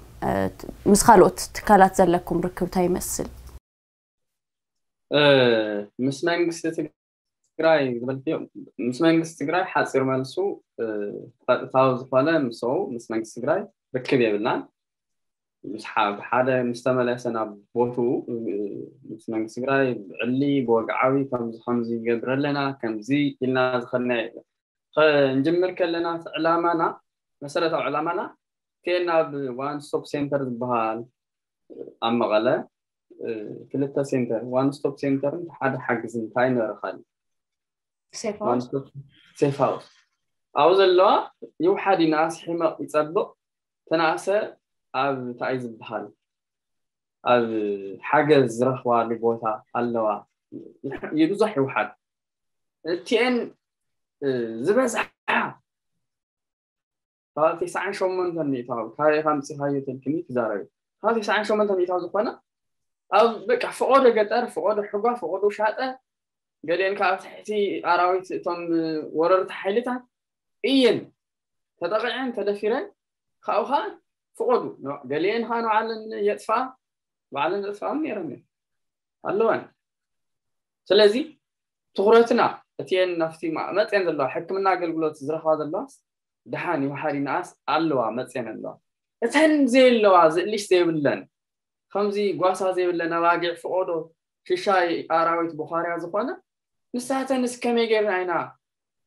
ምስ ካልኦት ትካላት ዘለኩም ርክብ እንታይ ይመስል? ምስ መንግስቲ ትግራይ ዝበልክዮ፣ ምስ መንግስቲ ትግራይ ሓፂር መልሱ ቀጥታዊ ዝኾነ ምስ ምስ መንግስቲ ትግራይ ርክብ የብልናን። ምስ ሓደ ምስ ተመለሰ ናብ ቦትኡ ምስ መንግስቲ ትግራይ ብዕሊ ብወግዓዊ ከምዚ ከምዚ ይገብር ኣለና ከምዚ ኢልና ዝኸድና ክንጅምር ከለና ዕላማና መሰረታዊ ዕላማና እቲኤን ናብ ዋን ስቶፕ ሴንተር ዝበሃል ኣብ መቐለ ክልተ ሴንተር ዋን ስቶፕ ሴንተርን ሓደ ሓግዝ እንታይ ነበረ ካሊእ ሴፍ ሃውስ ኣብኡ ዘለዋ ይውሓድ ይንኣስ ሕመቕ ይፀብቕ ተናእሰ ኣብ እንታይ ዝበሃል ኣብ ሓገዝ ዝረኽባሉ ቦታ ኣለዋ ይብዛሕ ይውሓድ እቲኤን ዝበዝሓ ካብ ተስዓን ሸሞንተን ሚእታዊ ካበይ ኢኻ ኣምፂኻዮ ተልክኒ ትዛረቢ ካብ ተስዓን ሸሞንተን ሚእታዊ ዝኾነ ኣብ በቃ ፈቆዶ ገጠር ፈቆዶ ሕጓ ፈቆዶ ሻጠ ገሊአን ከዓ ትሕቲ ኣራዊት እቶም ወረርቲ ሓይልታት እየን ተጠቂዐን ተደፊረን ካብኡ ከዓ ፈቆዱ ገሊአን ከዓ ንባዕለን የጥፍኣ ባዕለን ዘጥፍኣን ነይረን ኣለዋን ስለዚ ትኩረትና እቲኤን ናፍቲ መፅኤን ዘለዋ ሕክምና ኣገልግሎት ዝረኽባ ዘለዋስ ደሓን ይውሓድ ይንኣስ ኣለዋ መፅኤን ኣለዋ እተን ዘየለዋ ዝእልሽ ዘይብለን ከምዚ ጓሳ ዘይብለን ኣባጊዕ ፍቆዶ ሽሻይ ኣራዊት ቡኻርያ ዝኾነ ንሳተንስ ከመይ ጌርና ኢና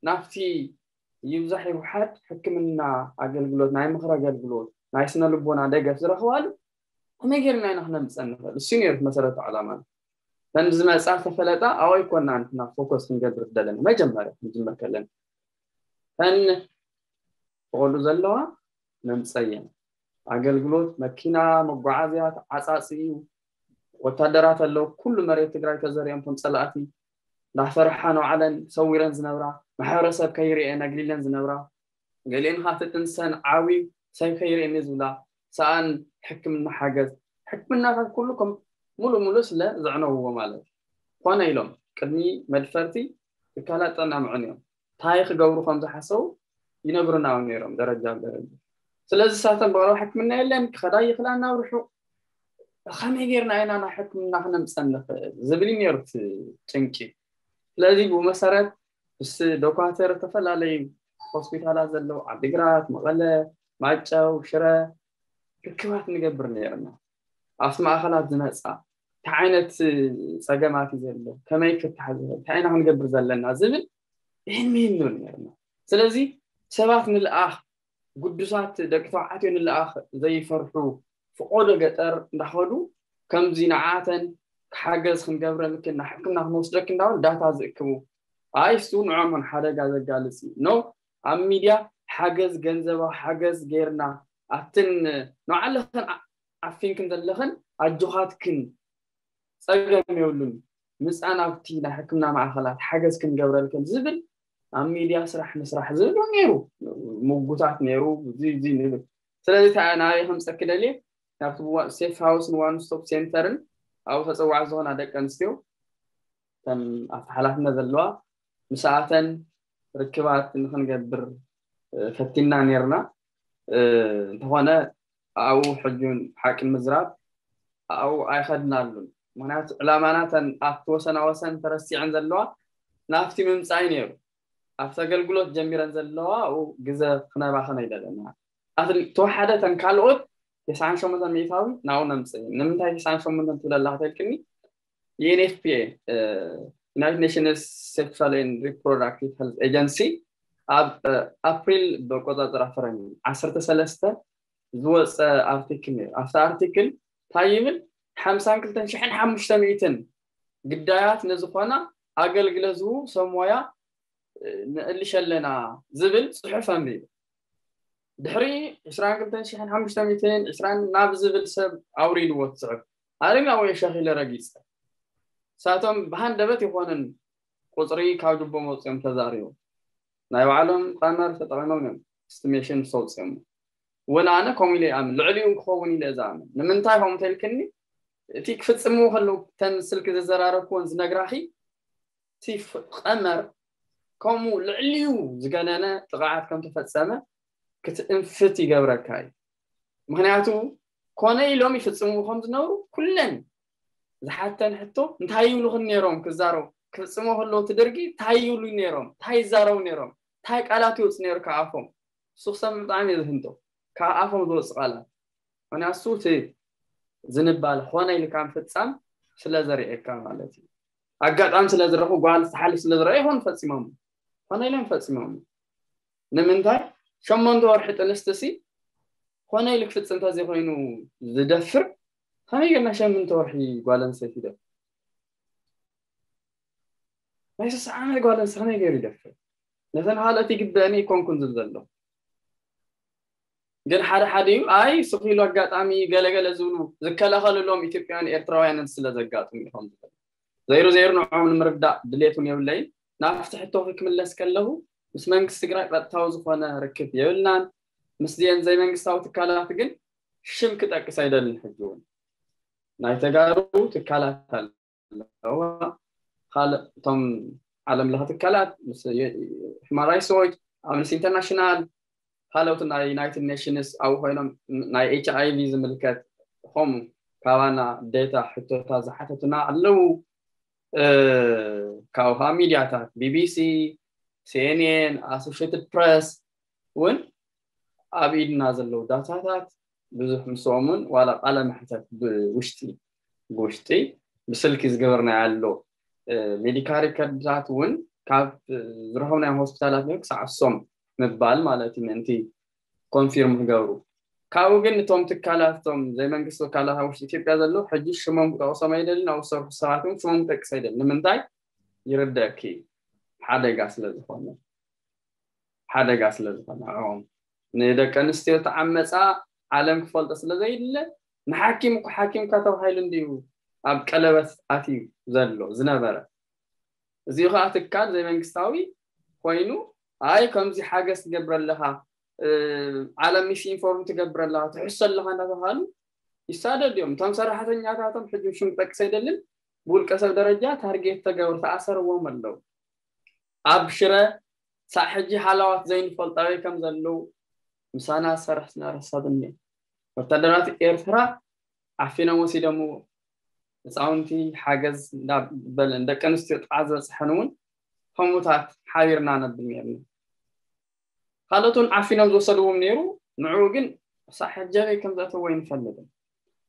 ናብቲ ይብዛሕ ይውሓድ ሕክምና ኣገልግሎት ናይ ምኽሪ ኣገልግሎት ናይ ስነ ልቦና ደገፍ ዝረኽባሉ ከመይ ጌርና ኢና ክነምፀን ንኽእል እሱ ነይሩ መሰረቱ ዕላማና ተን ዝመፃ ተፈለጣ ኣወይ ኮና ንሕና ፎከስ ክንገብር ደለና መጀመርያ ክንጅምር ከለና ተን ፍቐዱ ዘለዋ መምፀየን ኣገልግሎት መኪና፣ መጓዓዝያ ተዓፃፂ እዩ። ወታደራት ኣለዉ፣ ኩሉ መሬት ትግራይ ተዘሪኦም ከም ፀላእቲ እንዳፈርሓ ንባዕለን ሰዊረን ዝነብራ፣ ማሕበረሰብ ከይርኤን ኣግሊለን ዝነብራ፣ ገሊኤን ከዓ ትጥንሰን ዓብዩ ሰብ ከይርኤኒ ዝብላ፣ ሰኣን ሕክምና ሓገዝ፣ ሕክምናታት ኩሉ ከም ሙሉ ሙሉ ስለ ዘዕነውዎ ማለት እዩ። ኮነ ኢሎም ቅድሚ መድፈርቲ ትካላት ጥዕና ምዕንዮም እንታይ ክገብሩ ከም ዝሓሰቡ ይነግሩና እውን ነይሮም ደረጃ ብደረጃ። ስለዚ ሳቶም ብቐረባ ሕክምና የለን፣ ክኸዳ ይኽላ ናብ ርሑቕ፣ ከመይ ጌርና ኢና ናብ ሕክምና ክነምፀን ንኽእል ዝብል እዩ ነይሩ እቲ ጭንቂ። ስለዚ ብኡ መሰረት ምስ ዶኳተር ዝተፈላለዩ ሆስፒታላት ዘለዉ ዓዲግራት፣ መቐለ፣ ማይጨው፣ ሽረ ርክባት ንገብር ነይርና። ኣብቲ ማእኸላት ዝመፃ እንታይ ዓይነት ፀገማት እዩ ዘሎ፣ ከመይ ክፍታሕ ዝኽእል፣ እንታይ ኢና ክንገብር ዘለና ዝብል ይህን ምሂን ንብል ነይርና። ስለዚ ሰባት ንልኣኽ፣ ግዱሳት ደቂ ተባዕትዮ ንልኣኽ ዘይፈርሑ፣ ፍቆዶ ገጠር እንዳኸዱ ከምዚ ንዓተን ሓገዝ ክንገብረልክን ናብ ሕክምና ክንወስደክ እንዳበሉ ዳታ ዝእክቡ፣ ኣይ እሱ ንዖም ሓደጋ ዘጋልጽ እዩ ነው። ኣብ ሚድያ ሓገዝ ገንዘባዊ ሓገዝ ጌርና ኣብትን ንባዕልኽን ዓ- ዓፊንክን ዘለኽን ኣጆኻትክን ጸገም የብሉን፣ ምጻ ናብቲ ናይ ሕክምና ማእኸላት ሓገዝ ክንገብረልክን ዝብል ኣብ ሚድያ ስራሕ ንስራሕ ዝብል እውን ነይሩ፣ ምጉታት ነይሩ። እዚ እዚ ንብል ስለዚ እንታይ ናበይ ከምፀኪ ደልየ ናብቲ ሴፍ ሃውስን ዋን ስቶፕ ሴንተርን ኣብኡ ተፀዋዕቲ ዝኾና ደቂ ኣንስትዮ እተን ኣብቲ ሓላፍነት ዘለዋ ምስኣተን ርክባት ንክንገብር ፈቲና ነርና። እንተኾነ ኣብኡ ሕጂ ሓቂ ንምዝራብ ኣብኡ ኣይኸድናሉን። ምክንያቱ ዕላማና እተን ኣብቲ ወሰና ወሰን ተረሲዐን ዘለዋ ናብቲ ምምፃእ እዩ ነይሩ። ኣብቲ ኣገልግሎት ጀሚረን ዘለዋ ኣብኡ ግዘ ክነባኸን ኣይደለና። ተወሓደ እተን ካልኦት ተስዓን ሸሞንተን ሚእታዊ ናብኡ ነምፅእ። ንምንታይ ተስዓን ሸሞንተን ትብለላ ከተልክኒ? ዩ ኤን ኤፍ ፒ ኤ፣ United Nations Sexual and Reproductive Health Agency ኣብ ኣፕሪል ብቆፃፅራ ፈረንጂ ዓሰርተ ሰለስተ ዝወፀ ኣርቲክል ነይሩ። ኣብቲ ኣርቲክል እንታይ ይብል? ሓምሳን ክልተን ሽሕን ሓሙሽተ ሚእትን ግዳያት ንዝኾና ኣገልግሎት ዝህቡ ሰብ ሞያ ንእልሽ ኣለና ዝብል ፅሑፍ ኣንቢቡ። ድሕሪ ዕስራን ክልተን ሽሕን ሓሙሽተ ሚእትን ዕስራን ናብ ዝብል ሰብ ኣውሪድዎ እቲ ፅሑፍ። ኣረግና ወይ ሸኺለ ረጊፀ። ንሳቶም ብሃንደበት ይኾንን ቁፅሪ ካብ ጅቦም ኣውፅኦም ተዛሪቦም። ናይ ባዕሎም ቀመር ተጠቒሞም እዮም ስቲሜሽን ምስ ኣውፅኦም። እውን ኣነ ከምኡ ኢለ ይኣምን፣ ልዕሊኡ ክኸውን ኢለ ዝኣምን። ንምንታይ ከምኡ ተልክኒ? እቲ ክፍፅምዎ ከለዉ እተን ስልኪ ዘዘራረብክዎን ዝነግራኺ እቲ ቀመር ከምኡ ልዕሊኡ ዝገነነ ጥቕዓት ከም ተፈፀመ ክትእንፍት ይገብረካ እዩ። ምክንያቱ ኮነ ኢሎም ይፍፅምዎ ከም ዝነበሩ ኩለን ዝሓተን ሕቶ እንታይ ይብሉኽን ነይሮም ክዛረቡ ክፍፅሞ ከለዉ እቲ ድርጊ እንታይ ይብሉ ነይሮም እንታይ ይዛረቡ ነይሮም እንታይ ቃላት ይወፅ ነይሩ ካብ ኣፎም እሱ ክሰምዕ ብጣዕሚ እየ ዝህንጦ ካብ ኣፎም ዝወፅ ቃላት ምክንያቱ እቲ ዝንባል ኾነ ኢልካ ምፍፃም ስለ ዘርእየካ ማለት እዩ ኣጋጣሚ ስለ ዝረኹ ጓል ዝሓልፍ ስለ ዝረአ ይኾን ፈፂሞም ኾነ ኢሎም ፈፂሞም ንምንታይ ሸሞንተ ወርሒ ጥንስቲ ሲ ኮነ ኢሉ ክፍፅም ተዘይኮይኑ ዝደፍር ከመይ ጌርና ሸምንተ ወርሒ ጓል ኣንስተይቲ ይደፍር ናይ ስሳ ዓመት ጓል ኣንስተይቲ ከመይ ገይሩ ይደፍር ነተን ካልኦት ይግበእኒ ይኮንኩን ዝብል ዘሎ ግን ሓደ ሓደ እዩ ኣይ ስኺሉ ኣጋጣሚ ገለገለ ዝብሉ ዝከላኸልሎም ኢትዮጵያውያን ኤርትራውያንን ስለ ዘጋጥሙ ይኾን ዝብል ዘይሩ ዘይሩ ንዕኦም ንምርዳእ ድሌት እውን የብለይን ናብቲ ሕቶኺ ክምለስ ከለኹ ምስ መንግስቲ ትግራይ ቀጥታዊ ዝኾነ ርክብ የብልናን ምስዚአን ዘይመንግስታዊ ትካላት ግን ሽም ክጠቅስ ኣይደልን ሕጂ እውን ናይ ተጋሩ ትካላት ኣለዋ ካልእ እቶም ዓለም ለኸ ትካላት ምስ human rights watch amnesty international ካልኦት ናይ ዩናይትድ ኔሽንስ ኣብኡ ኮይኖም ናይ ኤች ኣይ ቪ ዝምልከት ኾም ካባና ዴታ ሕቶታት ዝሓተቱና ኣለዉ ካብ ከዓ ሚድያታት ቢቢሲ ሲኤንኤን ኣሶሽትድ ፕረስ እውን ኣብ ኢድና ዘለዉ ዳታታት ብዙሕ ምስኦምን ዋላ ቃለ መሕተት ብውሽጢ ብውሽጢ ብስልኪ ዝገበርናዮ ኣሎ ሜዲካ ሪከርድታት እውን ካብ ዝረኸብናዮም ሆስፒታላት ክሳዕ እሶም ምባል ማለት እዩ ምእንቲ ኮንፊርም ክገብሩ ካብኡ ግን እቶም ትካላት እቶም ዘይመንግስቲ ትካላት ኣብ ውሽጢ ኢትዮጵያ ዘለዉ ሕጂ ሽሞም ክጠቕሶም ኣይደልን ኣብ ዝሰርሑ ሰባት እውን ሽሞም ክጠቅስ ኣይደልን ንምንታይ ይርደእኪ ሓደጋ ስለ ዝኾነ ሓደጋ ስለ ዝኾነ ንዕኦም ንደቂ ኣንስትዮ ተዓመፃ ዓለም ክፈልጦ ስለ ዘይድለ፣ ንሓኪም እኮ ሓኪምካ ተባሂሉ እንድዩ ኣብ ቀለበት ኣትዩ ዘሎ ዝነበረ። እዚኡ ከዓ ትካል ዘይመንግስታዊ ኮይኑ፣ ኣይ ከምዚ ሓገዝ ትገብር ኣለኻ፣ ዓለም ሚስ ኢንፎርም ትገብር ኣለኻ፣ ትሕሶ ኣለኻ እናተባሃሉ ይሳደዱ እዮም። እቶም ሰራሕተኛታቶም ሕጂ ሽም ክጠቅስ ኣይደልን፣ ብውልቀ ሰብ ደረጃ ታርጌት ተገብሩ ተኣሰርዎም ኣለዉ። ኣብ ሽረ ሳዕ ሕጂ ሃላዋት ዘይንፈልጣዊ ከም ዘለዉ ምሳና ዝሰርሕ ስነረሳት እኒ ወታደራት ኤርትራ ዓፊኖም ወሲዶምዎ። ህፃውንቲ ሓገዝ እንዳበለን ደቂ ኣንስትዮ ጥቃ ዝበፅሐን እውን ከምኡታት ሓቢርና ነብል ነርና። ካልኦት እውን ዓፊኖም ዝወሰድዎም ነይሩ። ንዕኡ ግን ሳዕ ሕጂ ኣበይ ከም ዘእተዎ ኣይንፈልጥን።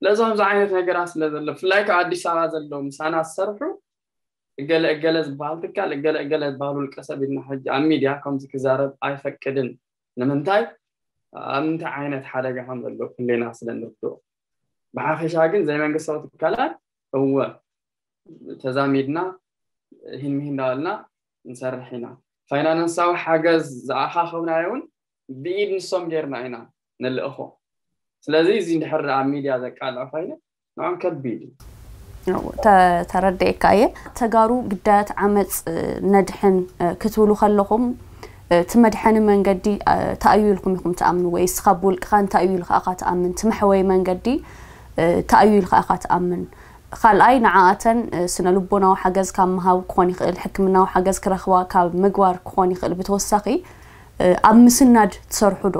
ስለዚ ከምዚ ዓይነት ነገራት ስለ ዘሎ ብፍላይ ካብ ኣዲስ ኣበባ ዘለዉ ምሳና ዝሰርሑ እገለ እገለ ዝበሃል ትካል እገለ እገለ ዝበሃል ውልቀ ሰብ ኢልና ሕጂ ኣብ ሚድያ ከምዚ ክዛረብ ኣይፈቅድን። ንምንታይ? ኣብ እንታይ ዓይነት ሓደጋ ከም ዘለዉ ኩሌና ስለ ንርድኦ። ብሓፈሻ ግን ዘይመንግስታዊ ትካላት እወ ተዛሚድና ሂን ምሂን እንዳበልና ንሰርሕ ኢና። ፋይናንሳዊ ሓገዝ ዝኣኻኸብናዮ እውን ብኢድ ንሶም ጌርና ኢና ንልእኾ። ስለዚ እዚ እንድሕር ኣብ ሚድያ ዘቃልዕ ኮይኑ ንዖም ከቢድ እዩ። ተረድኤካ እየ። ተጋሩ ግዳያት ዓመፅ ነድሕን ክትብሉ ከለኹም እቲ መድሐኒ መንገዲ እንታይ እዩ ኢልኩም ኢኹም ትኣምኑ? ወይስ ካብ ውልቅኻ እንታይ እዩ ኢልካ ኢኻ ትኣምን? እቲ መሕወይ መንገዲ እንታይ እዩ ኢልካ ኢኻ ትኣምን? ካልኣይ ንዓኣተን ስነ ልቦናዊ ሓገዝ ካብ ምሃብ ክኾን ይኽእል፣ ሕክምናዊ ሓገዝ ክረኽባ ካብ ምግባር ክኾን ይኽእል። ብተወሳኺ ኣብ ምስናድ ትሰርሑ ዶ?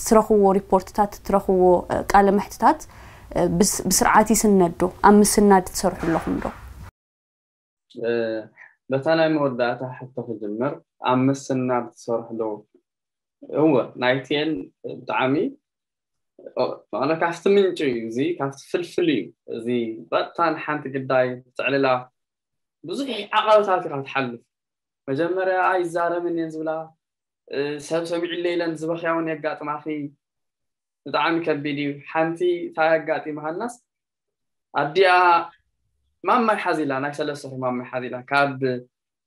ትረኽብዎ ሪፖርትታት፣ ትረኽብዎ ቃለ መሕትታት ብስርዓት ይስነድ ዶ? ኣብ ምስናድ ትሰርሑ ኣለኹም ዶ? በታ ናይ መወዳእታ ሕቶ ክጅምር፣ ኣብ ምስናድ ትሰርሑ ዶ? እወ ናይቲኤን ብጣዕሚ ማለት ካብቲ ምንጪ እዩ፣ እዚ ካብቲ ፍልፍል እዩ። እዚ በጣን ሓንቲ ግዳይ ትዕልላ ብዙሕ ዓቐብታት ኢኻ ትሓልፍ። መጀመርያ ኣይዛረብን እየን ዝብላ፣ ሰብ ሰሚዕለ ኢለን ዝበኽያ እውን የጋጥማኺ። ብጣዕሚ ከቢድ እዩ። ሓንቲ እንታይ ኣጋጢምሃናስ ኣዲኣ ማማይ ሓዚላ፣ ናይ ሰለስተ ወርሒ ማማይ ሓዚላ ካብ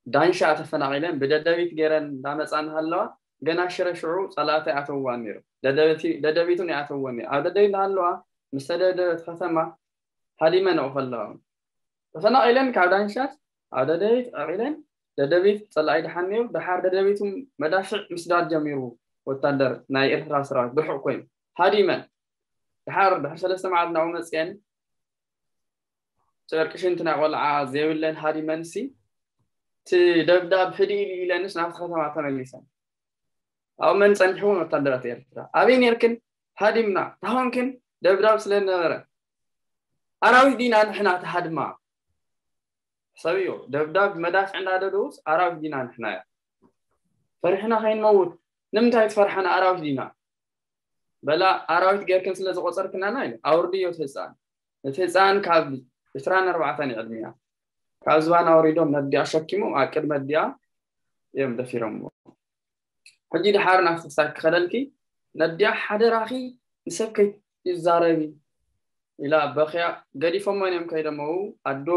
ዳንሻ ተፈናቒለን ብደደቢት ገይረን እንዳመፃ እናሃለዋ ገና ሽረ ሽዑ ፀላእቲ ኣተውዋን ነይሩ። ደደቢት እውን ይኣተውወን ነይሩ። ኣብ ደደቢት እናሃለዋ ምስ ተደብደበት ከተማ ሃዲመን ኣብኡ ከለዋ እውን ተፈናቒለን ካብ ዳንሻት ኣብ ደደቢት ዕቒለን ደደቢት ፀላኢ ድሓን ነይሩ። ድሓር ደደቢት እውን መዳፍዕ ምስዳድ ጀሚሩ ወታደር ናይ ኤርትራ ሰራዊት ብርሑቕ ኮይኑ ሃዲመን ድሓር ድሕሪ ሰለስተ መዓልቲ ናብኡ መፅየን ጨርቂ ሽንቲ ናይ ቆልዓ ዘይብለን ሃዲመንሲ እቲ ደብዳብ ህድእ ኢሉ ኢለንስ ናብቲ ከተማ ተመሊሰን። ኣብኡ መን ጸኒሕወን ወታደራት ኤርትራ ኣበይ ነርክን? ሃዲምና ታኾንክን ደብዳብ ስለ ነበረ ኣራዊት ዲና ንሕና ተሃድማ። ሕሰብዮ ደብዳብ መዳፍዕ እንዳደደውስ ኣራዊት ዲና ንሕና እያ ፈሪሕና ከይንመውት ንምንታይ ትፈርሓና ኣራዊት ዲና በላ ኣራዊት ጌርክን ስለ ዝቆጸርክናና ኢለ ኣውርድዮ እቲ ህጻን። እቲ ህጻን ካብ ዕስራን ኣርባዕተን እዩ ዕድሚኣ ካብ ዝባን ኣውሪዶም ነዲኣ ሸኪሞም ኣብ ቅድሚ ኣዲኣ እዮም ደፊሮምዎ። ሕጂ ድሓር ናብቲ ክሳድ ክኸደልኪ ነዲኣ ሓደራኺ ንሰብ ከይትዛረቢ ኢላ በኽያ ገዲፎሞን እዮም ከይዶመው ኣዶ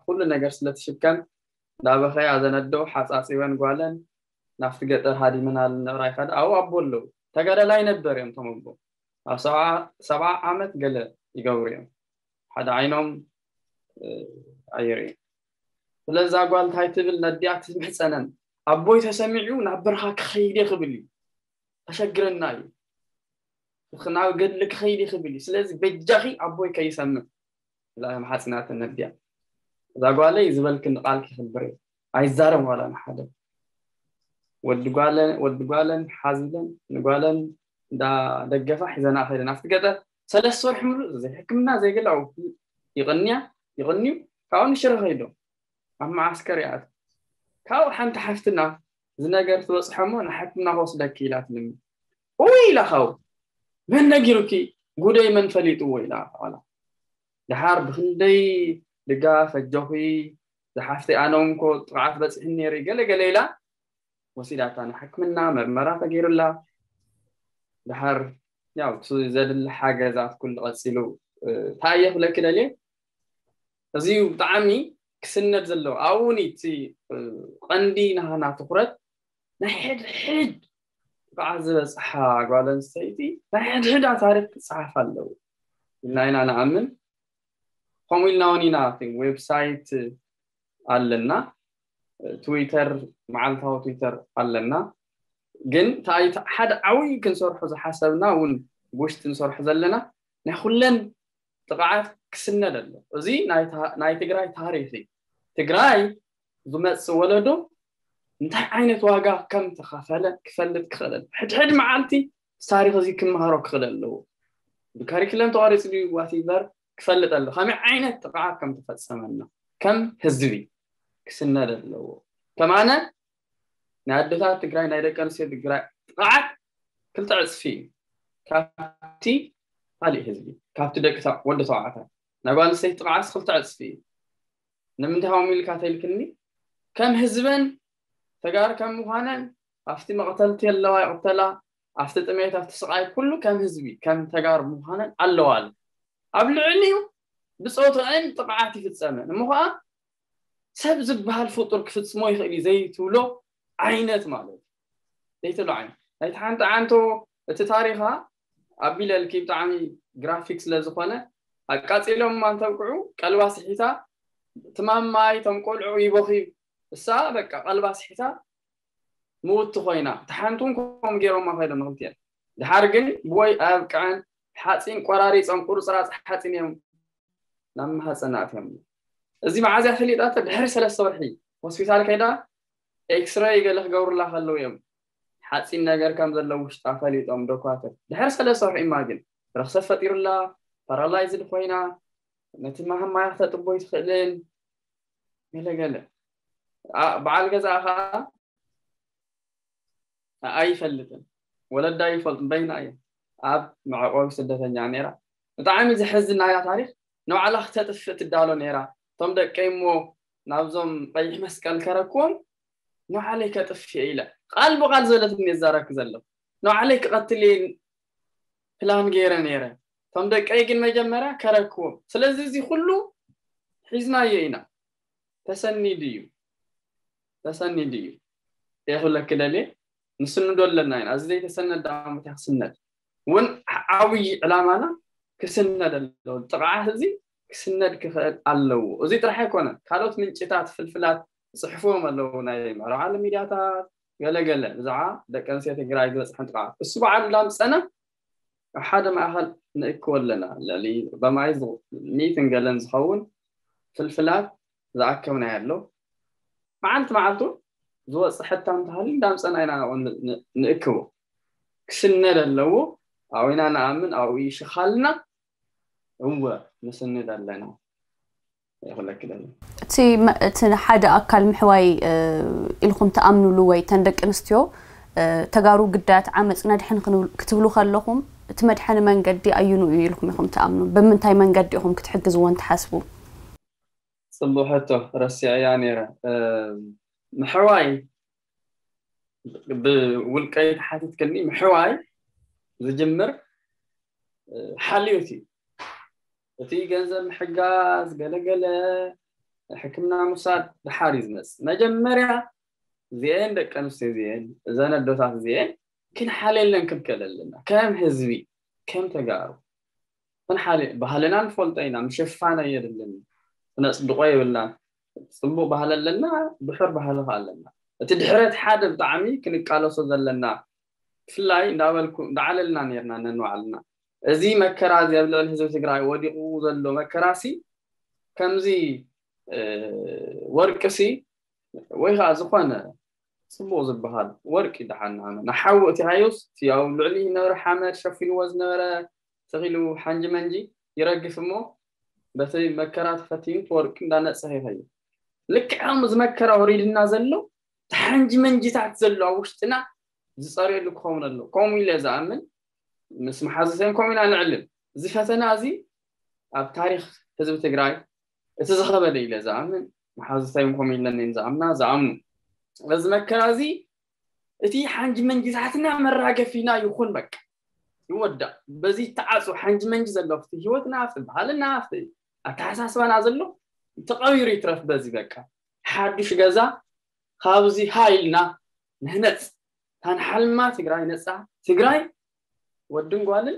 ኩሉ ነገር ስለትሽከም እንዳበኸያ ዘነዶ ሓፃፂበን ጓለን ናብቲ ገጠር ሃዲመናል ንዕራይ ከዳ ኣብኡ ኣቦ ኣለዉ ተጋዳላይ ነበር እዮም ተመቦ ኣብ ሰብዓ ዓመት ገለ ይገብሩ እዮም ሓደ ዓይኖም ኣይርኢ ስለዛ ጓል እንታይ ትብል ነዲኣ ትምሕፀነን ኣቦይ ተሰሚዑ ናብ በረኻ ክኸይድ ክብል እዩ ተሸግረና እዩ ናብ ገድሊ ክኸይድ ክብል እዩ ስለዚ በጃኺ ኣቦይ ከይሰምዕ ኢላ ማሓፅናተን ነዲኣ እዛ ጓለይ ዝበልክኒ ቃል ክኽብር እየ ኣይዛረብ ዋላ ንሓደ ወዲ ጓለን ሓዚለን ንጓለን እንዳደገፋ ሒዘና ከይደን ኣብቲ ገጠር ሰለስተ ወርሒ ምሉእ ዘይሕክምና ዘይገለ ይቕንያ ይቕንዩ ካብኡ ንሽረ ከይዶም ኣብ መዓስከር ይኣት ካብኡ ሓንቲ ሓፍትና እዚ ነገር ትበፅሖ እሞ ንሓክምና ከወስደኪ ኢላትልኒ እወ ኢላ ካብኡ መን ነጊሩኪ ጉደይ መን ፈሊጥዎ ኢላ ዋላ ድሓር ብክንደይ ድጋፍ ኣጆኺ ዝሓፍተይ ኣነ እውን እኮ ጥቕዓት በፂሕኒ ነይሩ ገለ ገለ ኢላ ወሲዳታ ንሕክምና መርመራ ተገይሩላ ድሓር ያው እቲ ዘድሊ ሓገዛት ኩሉ ቀፂሉ እንታይ እየ ክብለኪ ደልየ እዚ ብጣዕሚ ክስነድ ዘለዎ ኣብኡ እውን እቲ ቀንዲ ናሃና ትኩረት ናይ ሕድሕድ ብዓል ዝበፅሓ ጓል ኣንስተይቲ ናይ ሕድሕዳ ታሪክ ክፀሓፍ ኣለዎ ኢልና ኢና ንኣምን። ከምኡ ኢልና እውን ኢና ዌብሳይት ኣለና፣ ትዊተር፣ መዓልታዊ ትዊተር ኣለና። ግን እንታይ ሓደ ዓብዪ ክንሰርሖ ዝሓሰብና እውን ውሽጢ ንሰርሖ ዘለና ናይ ኩለን ጥቕዓት ክስነድ ኣሎ። እዚ ናይ ትግራይ ታሪክ እዩ። ትግራይ ዝመፅእ ወለዶ እንታይ ዓይነት ዋጋ ከም ተኸፈለ ክፈልጥ ክኽእል። ሕድሕድ መዓልቲ ታሪክ እዚ ክምሃሮ ክኽእል ኣለዎ። ብካሪክለም ተቋሪፁ ድዩ ዋቲበር ክፈልጥ ኣሎ። ከመይ ዓይነት ጥቕዓት ከም ተፈፀመና ከም ህዝቢ ክስነድ ኣለዎ። ከማነ ናይ ኣደታት ትግራይ ናይ ደቂ ኣንስትዮ ትግራይ ጥቕዓት ክልተ ዕፅፊ እዩ። ካብቲ ካሊእ ህዝቢ ካብቲ ደቂ ወዲ ተባዕታይ ናይ ጓል ኣንስተይቲ ጥቕዓት ክልተ ዕፅፊ እዩ። ንምንታይ ከምኡ ኢልካ ተልክኒ? ከም ህዝበን ተጋር ከም ምዃነን ኣብቲ መቕተልቲ ኣለዋ ይቕተላ፣ ኣብቲ ጥሜት ኣብቲ ስቓይ ኩሉ ከም ህዝቢ ከም ተጋር ምዃነን ኣለዋ። ኣብ ልዕሊኡ ብፆትአን ጥቕዓት ይፍፀመን እሞ ከዓ ሰብ ዝበሃል ፍጡር ክፍፅሞ ይኽእል እዩ ዘይትብሎ ዓይነት ማለት እዩ። ዘይትብሎ ዓይነት ናይቲ ሓንቲ ዓንቶ እቲ ታሪኻ ኣቢለልኪ ብጣዕሚ ግራፊክ ስለ ዝኾነ ኣቃፂሎም ማንተብቅዑ ቀልባ ስሒታ ትማማይ ቶም ቆልዑ ይበኽዩ እሳ በቃ ቀልባ ስሒታ ምውቲ ኮይና ተሓንቱን ከም ገይሮማ ከይዶም ንክልቲኤን ድሓር ግን ብወይ ኣብቅዐን ሓፂን ቆራሪፆም ቁርፅራፅ ሓፂን እዮም ናብ ማህፀና ኣትዮም። እዚ መዓዝያ ፈሊጣቶ ድሕሪ ሰለስተ ወርሒ ሆስፒታል ከይዳ ኤክስሬይ ገለ ክገብሩላ ከለዉ እዮም ሓፂን ነገር ከም ዘለዎ ውሽጣ ፈሊጦም ዶኳተር ድሕሪ ሰለስተ ወርሒ ኢማጅን ረክሰት ፈጢሩላ ፓራላይዝድ ኮይና ነቲ ማህማያ ክተጥቦ ይትኽእልን ገለገለ በዓል ገዛ ከዓ ኣይፈልጥን ወለዳ ይፈልጥ በይና እየ ኣብ መዕቆቢ ስደተኛ ነራ ብጣዕሚ ዝሕዝን ናያ ታሪክ ንባዕላ ክተጥፍእ ትዳሎ ነራ እቶም ደቀይ እሞ ናብዞም ቀይሕ መስቀል ከረክዎም ንባዕለይ ከጥፍእ ኢለ ቃል ብቃል ዘለትኒ የዛረብክ ዘለኹ ንባዕለይ ክቐትል እየ ፕላን ገይረ ነረ እቶም ደቀይ ግን መጀመርያ ከረክዎም ስለዚ እዚ ኩሉ ሒዝናዮ ኢና ተሰኒዱ እዩ ተሰኒዱ እዩ የኽብለኪ ደልየ ንስንዶ ኣለና ኢና እዚ ዘይተሰነድ ደኣ እንታይ ክስነድ እውን ዓብዪ ዕላማና ክስነድ ኣለዎ ጥቕዓት እዚ ክስነድ ክኽእል ኣለዎ እዚ ጥራሕ ኣይኮነን ካልኦት ምንጭታት ፍልፍላት ፅሕፍዎም ኣለዉ ናይ ምዕራብ ዓለም ሚድያታት ገለገለ ብዛዕባ ደቂ ኣንስትዮ ትግራይ ዝበፅሐን ጥቕዓት እሱ በዓሉ እንዳምፀና ኣብ ሓደ ማእኸል ንእክቦ ኣለና ልዕሊ በማይ ሚእትን ገለን ዝኸውን ፍልፍላት ዝኣከብናዮ ኣሎ መዓልቲ መዓልቱ ዝወፅእ ሕታም ተሃሊ እንዳምፀና ኢና ንእክቦ ክስነድ ኣለዎ ኣብና ንኣምን ኣብኡ ይሽኻልና እወ ንስንድ ኣለና ይኽለክለና እቲ እቲ ሓደ ኣካል ምሕዋይ ኢልኩም ትኣምኑሉ ወይ ተን ደቂ ኣንስትዮ ተጋሩ ግዳያት ዓመፅ ነድሕን ክትብሉ ከለኹም እቲ መድሐኒ መንገዲ ኣዩኑ እዩ ኢልኩም ኢኹም ትኣምኑ ብምንታይ መንገዲ ኢኹም ክትሕግዝዎን ትሓስቡ ፅቡቅ ሕቶ ረሲዐያ ነይረ ምሕዋይ ብውልቀይ ተሓቲትክኒ ምሕዋይ ዝጅምር ሓልዮት እዩ እቲ ገንዘብ ምሕጋዝ ገለገለ ሕክምና ምውሳድ ድሓር እዩ ዝመፅእ መጀመርያ እዚአን ደቂ ኣንስትዮ እዚአን እዘን ኣዶታት እዚአን ክንሓልየለን ክንክእል ኣለና ከም ህዝቢ ከም ተጋሩ ክንሓልየ ባህልና ንፈልጦ ኢና ምሽፋን ኣየድልን ክነፅድቆ የብልናን ፅቡቅ ባህሊ ኣለና ድሑር ባህሊ ከ ኣለና እቲ ድሕረት ሓደ ብጣዕሚ ክንቃለሶ ዘለና ብፍላይ እንዳበልኩ እንዳዓለልና ነርና ነንባዕልና እዚ መከራ እዚ ኣብ ልዕሊ ህዝቢ ትግራይ ወዲቁ ዘሎ መከራ ሲ ከምዚ ወርቂ ሲ ወይ ከዓ ዝኾነ ፅቡቅ ዝበሃል ወርቂ ደሓን ንሓመ ንሓዊ እቲ ሃዮስ እቲ ኣብ ልዕሊ ዝነበረ ሓመድ ሸፊንዎ ዝነበረ ተኺሉ ሓንጂ መንጂ ይረግፍ እሞ በቲ መከራ ተፈቲኑ እቲ ወርቂ እንዳነፀሀ ይኸይድ ልክዕ ከምኡ ዝመከራ ወሪድና ዘሎ እቲ ሓንጂ መንጂታት ዘሎ ኣብ ውሽጥና ዝፀርየሉ ክኸውን ኣሎ ከምኡ ኢለ ዝኣምን ምስ መሓዙተይን ከምኡ ኢና ንዕልል እዚ ፈተና እዚ ኣብ ታሪክ ህዝቢ ትግራይ እቲ ዝኸበደ ኢለ ዝኣምን መሓዙተይን ከምኡ ኢለንን ዝኣምና ዝኣምኑ ስለዚ መከራ እዚ እቲ ሓንጂ መንጂታትና መራገፊና ይኹን በቃ ይወዳእ በዚ ተዓፁ ሓንጂ መንጂ ዘሎ ኣብቲ ህይወትና ኣብቲ ባህልና ኣብቲ ኣተሓሳስባና ዘሎ ተቐቢሩ ይትረፍ በዚ በቃ ሓዱሽ ገዛ ካብዚ ሃይልና ንህነፅ ታንሓልማ ትግራይ ነፃ ትግራይ ወድን ጓልን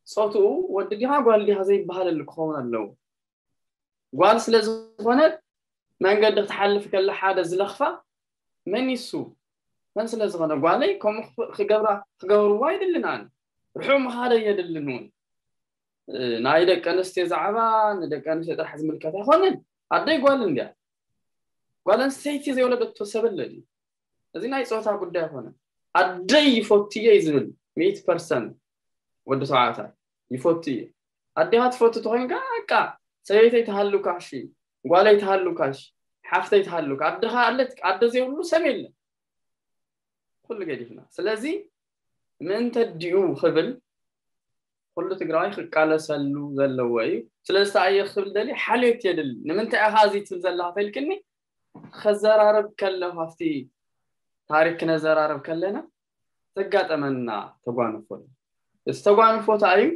ፆትኡ ወዲ ዲኻ ጓል ዲኻ ዘይበሃለሉ ክኸውን ኣለዎ። ጓል ስለ ዝኾነት መንገዲ ክትሓልፍ ከላ ሓደ ዝለኽፋ መን ይሱ መን ስለ ዝኾነ ጓለይ ከምኡ ክገብራ ክገብርዋ ኣይድልን ኣነ ርሑቕ ምኻደ የድልን እውን ናይ ደቂ ኣንስትዮ ዛዕባ ንደቂ ኣንስትዮ ጥራሕ ዝምልከት ኣይኮነን። ኣደይ ጓል እንዲያ ጓል ኣንስተይቲ ዘይወለደቶ ሰብ ኣለድ እዩ። እዚ ናይ ፆታ ጉዳይ ኣይኮነን። ኣደይ ይፈትየ እዩ ዝብል ሚእቲ ፐርሰንት ወዲ ተባዕታይ ይፈቱ እዩ። ኣዴኻ ትፈቱ ተኮይንካ በቃ ሰበይተይ ትሃሉካ እሺ፣ ጓለይ ትሃሉካ እሺ፣ ሓፍተይ ትሃሉካ። ኣደኻ ኣለት ኣደ ዘይብሉ ሰብ የለን። ኩሉ ገዲፍና ስለዚ ምእንተ ዲኡ ክብል ኩሉ ትግራዋይ ክቃለሰሉ ዘለዎ እዩ። ስለዚ ተኣየ ክብል ደሊ ሓልዮት የድል ንምንታይ ኢኻ እዚ ትብል ዘለኻ ተልክኒ ከዘራረብ ከለኹ ኣብቲ ታሪክ ክነዘራረብ ከለና ዘጋጠመና ተጓንፎ እዩ። እዚ ተጓንፎ እንታይ እዩ?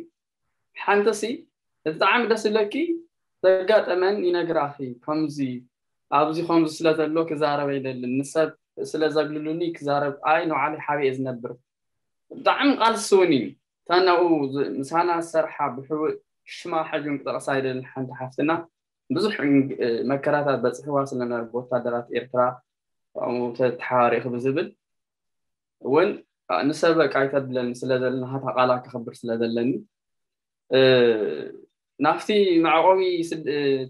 ሓንተሲ ብጣዕሚ ደስ ዝብለኪ ዘጋጠመን ይነግራኺ ከምዚ ኣብዚ ከምዚ ስለ ዘሎ ክዛረብ ኣይደልን ንሰብ ስለ ዘግልሉኒ ክዛረብ ኣይ ንባዕለይ ሓቢኤ ዝነብር ብጣዕሚ ቃልሲ እውን እዩ። እታ ናብኡ ምሳና ዝሰርሓ ብሕቡእ ሽማ ሕጂ እውን ክጠቕሳ ኣይደልን ሓንቲ ሓፍትና ብዙሕ መከራታት በፅሕዋ ስለነበረ ብወታደራት ኤርትራ ተሓባሪእኺ ብዝብል እውን ንሰብ በቃ ኣይተብለኒ ስለ ዘለና ሃታ ቃላ ከኽብር ስለ ዘለኒ ናብቲ መዕቆቢ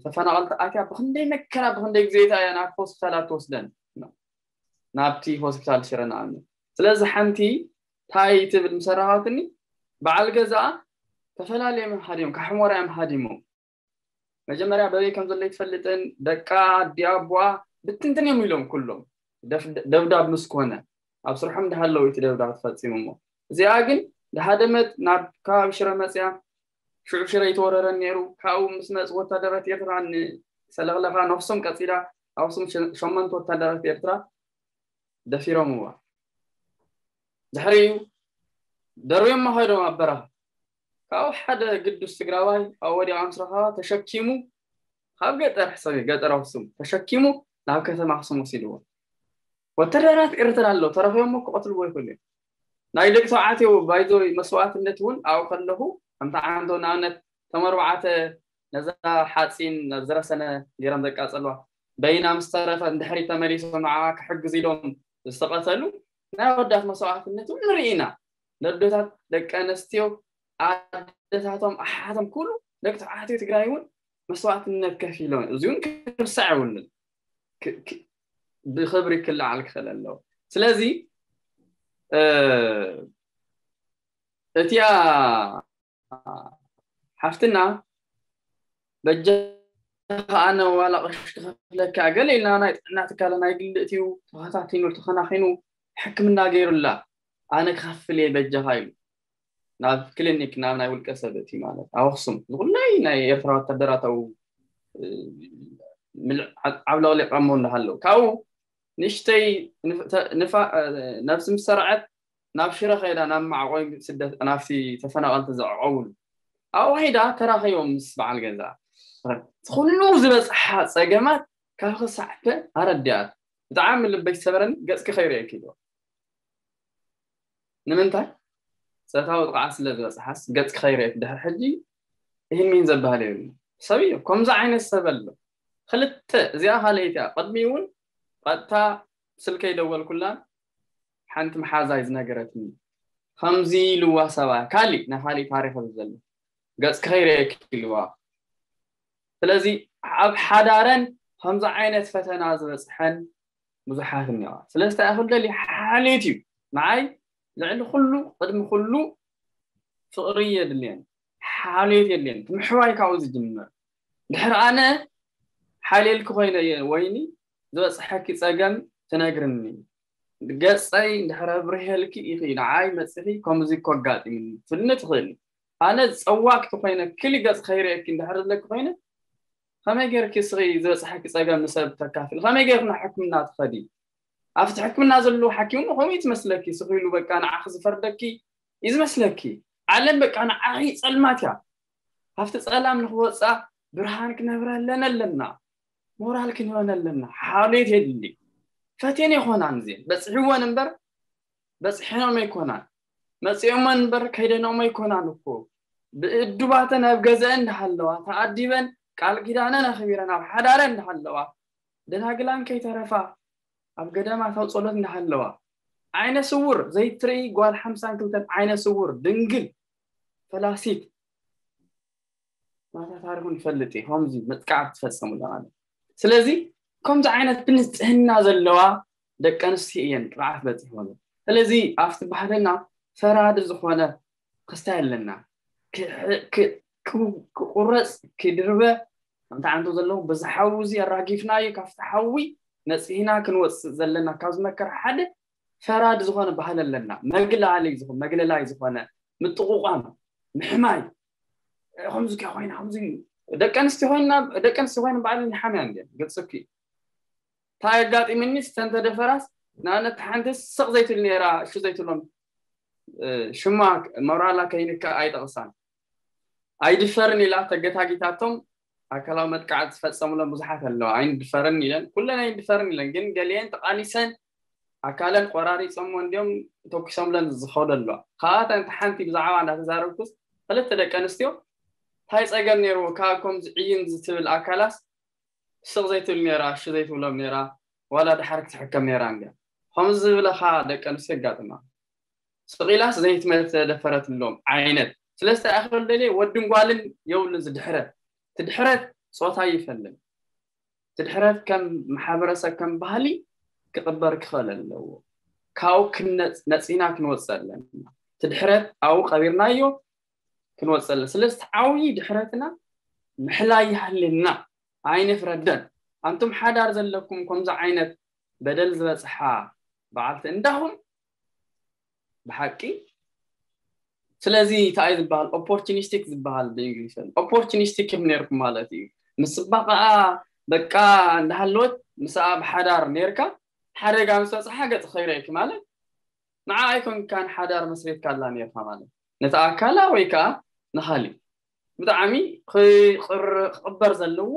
ተፈናቐልቲ ኣትያ ብክንደይ መከራ ብክንደይ ግዜታ እያ ናብ ሆስፒታላት ትወስደን ናብቲ ሆስፒታል ሽረ ንኣብነት። ስለዚ ሓንቲ ታይ ትብል ምሰራኻትኒ በዓል ገዛኣ ተፈላለዮም ሃዲሞም ካብ ሕሞራ እዮም ሃዲሞም መጀመርያ በበይ ከም ዘሎ ይትፈልጥን ደቃ ኣዲኣ ኣቦኣ ብትንትን እዮም ኢሎም ኩሎም ደብዳብ ምስ ኮነ ኣብ ስርሖም እንዳሃለዉ እቲ ደብዳብ ተፈፂሙ እሞ እዚኣ ግን ድሃደመት ናብ ከባቢ ሽረ መፅያ ሽዑ ሽረ ይተወረረን ነይሩ ካብኡ ምስ መፅ ወታደራት ኤርትራ ንሰለቕለኻ ነፍሶም ቀፂላ ኣብ ኣክሱም ሸመንተ ወታደራት ኤርትራ ደፊሮምዋ ድሕሪኡ ደርብዮም ከይዶም ኣብ በረኻ ካብኡ ሓደ ግዱስ ትግራዋይ ኣብ ወዲቓ ምስ ረኸባ ተሸኪሙ ካብ ገጠር ሕሰብ ገጠር ኣክሱም ተሸኪሙ ናብ ከተማ ኣክሱም ወሲድዎ ወተደራት ኤርትራ ኣለዉ ተረኺቦም ክቐትልዎ ይኽእሉ እዮም ናይ ደቂ ተባዕትዮ ባይዞይ መስዋዕትነት እውን ኣብኡ ከለኹ ከምቲ ዓንቶ ንኣብነት ተመርባዕተ ነዛ ሓፂን ናብ ዝረሰነ ገይሮም ዘቃፀልዋ በይና ምስ ተረፈ ንድሕሪት ተመሊሶም ንዓኣ ክሕግዝ ኢሎም ዝተቐተሉ ናይ ኣወዳት መስዋዕትነት እውን ንርኢ ኢና ነዶታት ደቂ ኣነስትዮ ኣደታቶም ኣሓቶም ኩሉ ደቂ ተባዕትዮ ትግራይ እውን መስዋዕትነት ከፊሎም እዚ እውን ክርሳዕ የብሉን ብክብሪ ክለዓል ክኽእል ኣለዎ ስለዚ እቲኣ ሓፍትና በጃኻ ኣነ ዋላ ቅርሺ ክኸፍለካ ገለ ኢልና ናይ ጥዕና ትካለ ናይ ግልእ እዩ ተኸታቲኑ ተኸናኺኑ ሕክምና ገይሩላ ኣነ ክኸፍል እየ በጃኻ ኢሉ ናብ ክሊኒክ ናብ ናይ ውልቀ ሰብ እቲ ማለት ኣብ ኣክሱም ዝኩለይ ናይ ኤርትራ ወታደራት ኣው ዓብለቕሊቐሞ እንዳሃለው ካብኡ ንእሽተይ ነብሲ ምስ ሰርዐት ናብ ሽረ ከይዳ ናብ ማዕቆይ ስደት ናብቲ ተፈናቐልቲ ዘዕቆብሉ ኣብኡ ከይዳ ተራኸቦም ምስ በዓል ገዛ ኩሉ ዝበፅሓ ፀገማት ካብ ክሳዕተ ኣረዲኣት ብጣዕሚ ልበይ ዝሰበረኒ ገፅኪ ከይርእየኪ ኢልዋ ንምንታይ ፆታዊ ጥቕዓት ስለ ዝበፅሓስ ገፅኪ ከይርእየኪ ድሕሪ ሕጂ ይህን ሚን ዘበሃል የብሉ ሰብ እዩ ከምዚ ዓይነት ሰብ ኣሎ ክልተ እዚኣ ካልኣይቲ እያ ቅድሚ እውን ቀጥታ ስልከይ ደወልኩላን ሓንቲ መሓዛይ ዝነገረትኒ ከምዚ ኢልዋ ሰብኣያ ካሊእ ናይ ካሊእ ታሪክ ዘሎ ገፅኪ ከይርእየኪ ኢልዋ ስለዚ ኣብ ሓዳረን ከምዚ ዓይነት ፈተና ዝበፅሐን ብዙሓት እኒዋ ስለዚ እንታይ ክብል ደልየ ሓልዮት እዩ ንዓይ ልዕሊ ኩሉ ቅድሚ ኩሉ ፍቕሪ የድልየን ሓልዮት የድልየን እቲ ምሕዋይ ካብኡ ዝጅምር ድሕሪ ኣነ ሓልየልኪ ኮይነ እየ ወይኒ ዝበፅሐኪ ፀገም ትነግርኒ ገፀይ እንድሕር ኣብሪሀልኪ ኢኺ ንዓይ መፂኺ ከምዚ እኮ ኣጋጢምኒ ትብልኒ ትኽእሊ ኣነ ዝፀዋክቲ ኮይነ ክሊ ገፅ ከይርእየኪ እንድሕር ዝብለኪ ኮይነ ከመይ ጌርኪ እስኺ ዝበፅሐኪ ፀገም ንሰብ ተካፍሊ ከመይ ጌርኪ ናብ ሕክምና ትኸዲ ኣብቲ ሕክምና ዘለዉ ሓኪም ከምኡ ትመስለኪ ስኺ ኢሉ በቃ ንዓኺ ዝፈርደኪ እዩ ዝመስለኪ ዓለም በቃ ንዓኺ ፀልማት እያ ካብቲ ፀላም ንክወፅኣ ብርሃን ክነብረለን ኣለና ሞራል ክንበን ኣለና ሓልዮት የድሊ ፈትየን ኣይኮናን እዚአን በፅሕወን እምበር በፅሐኖም ኣይኮናን መጺኦመን እምበር ከይደንኦሞ ኣይኮናን እኮ። ብእዱባተን ኣብ ገዘአን እንዳሃለዋ፣ ተኣዲበን ቃል ኪዳነን ኣኽቢረን ኣብ ሓዳረን እንዳሃለዋ፣ ደናግላን ከይተረፋ ኣብ ገዳማት ኣብ ጸሎት እንዳሃለዋ፣ ዓይነ ስውር ዘይትርኢ ጓል ሓምሳን ክልተን ዓይነ ስውር ድንግል ፈላሲት ናታ ታሪኹ ንፈልጥ እዩ። ከምዚ መጥቃዕቲ ትፈጸሙ ኣለና። ስለዚ ከምዚ ዓይነት ብንጽህና ዘለዋ ደቂ ኣንስትዮ እየን ጥቕዓት በጺሕወን። ስለዚ ኣብቲ ባህልና ፈራዲ ዝኾነ ክስታይ ኣለና። ክቁረጽ ክድርበ ከምቲ ዓንቶ ዘለዉ በዚ ሓዊ እዚ ኣራጊፍናዮ ካብቲ ሓዊ ነጺህና ክንወጽእ ዘለና ካብ ዝመከር ሓደ ፈራድ ዝኾነ ባህል ኣለና። መግላሊ ዝኾነ መግለላይ ዝኾነ ምጥቑቋም ምሕማይ ከምዚ ኮይና ከምዚ ደቂ ኣንስትዮ ኮይና ደቂ ኣንስትዮ ኮይና ባዕለን ይሓምያ እንደ ግልጽ እኮ እንታይ ኣጋጢምኒ ስተን ተደፈራስ ንኣብነት ሓንቲ ስቕ ዘይትብል ነይራ እሹ ዘይትብሎም ሽማ መብራላ ከይንካ ኣይጠቕሳን ኣይድፈርን ኢላ ተገታጊታቶም ኣካላዊ መጥቃዕቲ ዝፈጸሙሎም ብዙሓት ኣለዋ ኣይንድፈርን ኢለን ኩለን ኣይንድፈርን ኢለን ግን ገሊአን ተቓሊሰን ኣካለን ቆራሪጾም እንዲዮም ተኩሶምለን ዝኸዱ ኣለዋ ካብኣተን ሓንቲ ብዛዕባ እንዳተዛረብኩስ ክልተ ደቂ ኣንስትዮ እንታይ ጸገም ነይርዎ ካብ ከምዚ ዕይን ዝትብል ኣካላስ ስቕ ዘይትብል ነይራ እሺ ዘይትብሎም ነይራ ዋላ ድሓር ክትሕከም ነይራ እንድያ ከምዚ ዝብለኻ ደቂ ኣንስትዮ የጋጥማ ስቕ ኢላስ ዘይትመልስ ተደፈረትሎም ዓይነት ስለስተ ኣኽል ደልየ ወድን ጓልን የብሉን ዝድሕረት ትድሕረት ጾታ ይፈልም ትድሕረት ከም ማሕበረሰብ ከም ባህሊ ክቕበር ክኽእል ኣለዎ ካብኡ ነፂና ክንወፅእ ኣለና ትድሕረት ኣብኡ ቀቢርናዮ ክንወፅእ ኣለና ስለዚ ዓብዪ ድሕረትና ምሕላይ ይሃልየና ኣይንፍረደን ኣንቱም ሓዳር ዘለኩም ከምዚ ዓይነት በደል ዝበፅሓ በዓልቲ እንዳኹም ብሓቂ ስለዚ እንታይ ዝበሃል opportunistic ዝበሃል ብእንግሊዝ opportunistic ኢኹም ነርኩም ማለት እዩ ምስ ፅባቐኣ በቃ እንዳሃለወት ምስኣ ብሓዳር ነርካ ሓደጋ ምስ በፅሓ ገፅ ከይረእኪ ማለት ንዓ ኣይኮንካን ሓዳር መስሪትካ ኣላ ነርካ ማለት ነቲ ኣካላ ወይ ከዓ ንኻሊእ ብጣዕሚ ክቕበር ዘለዎ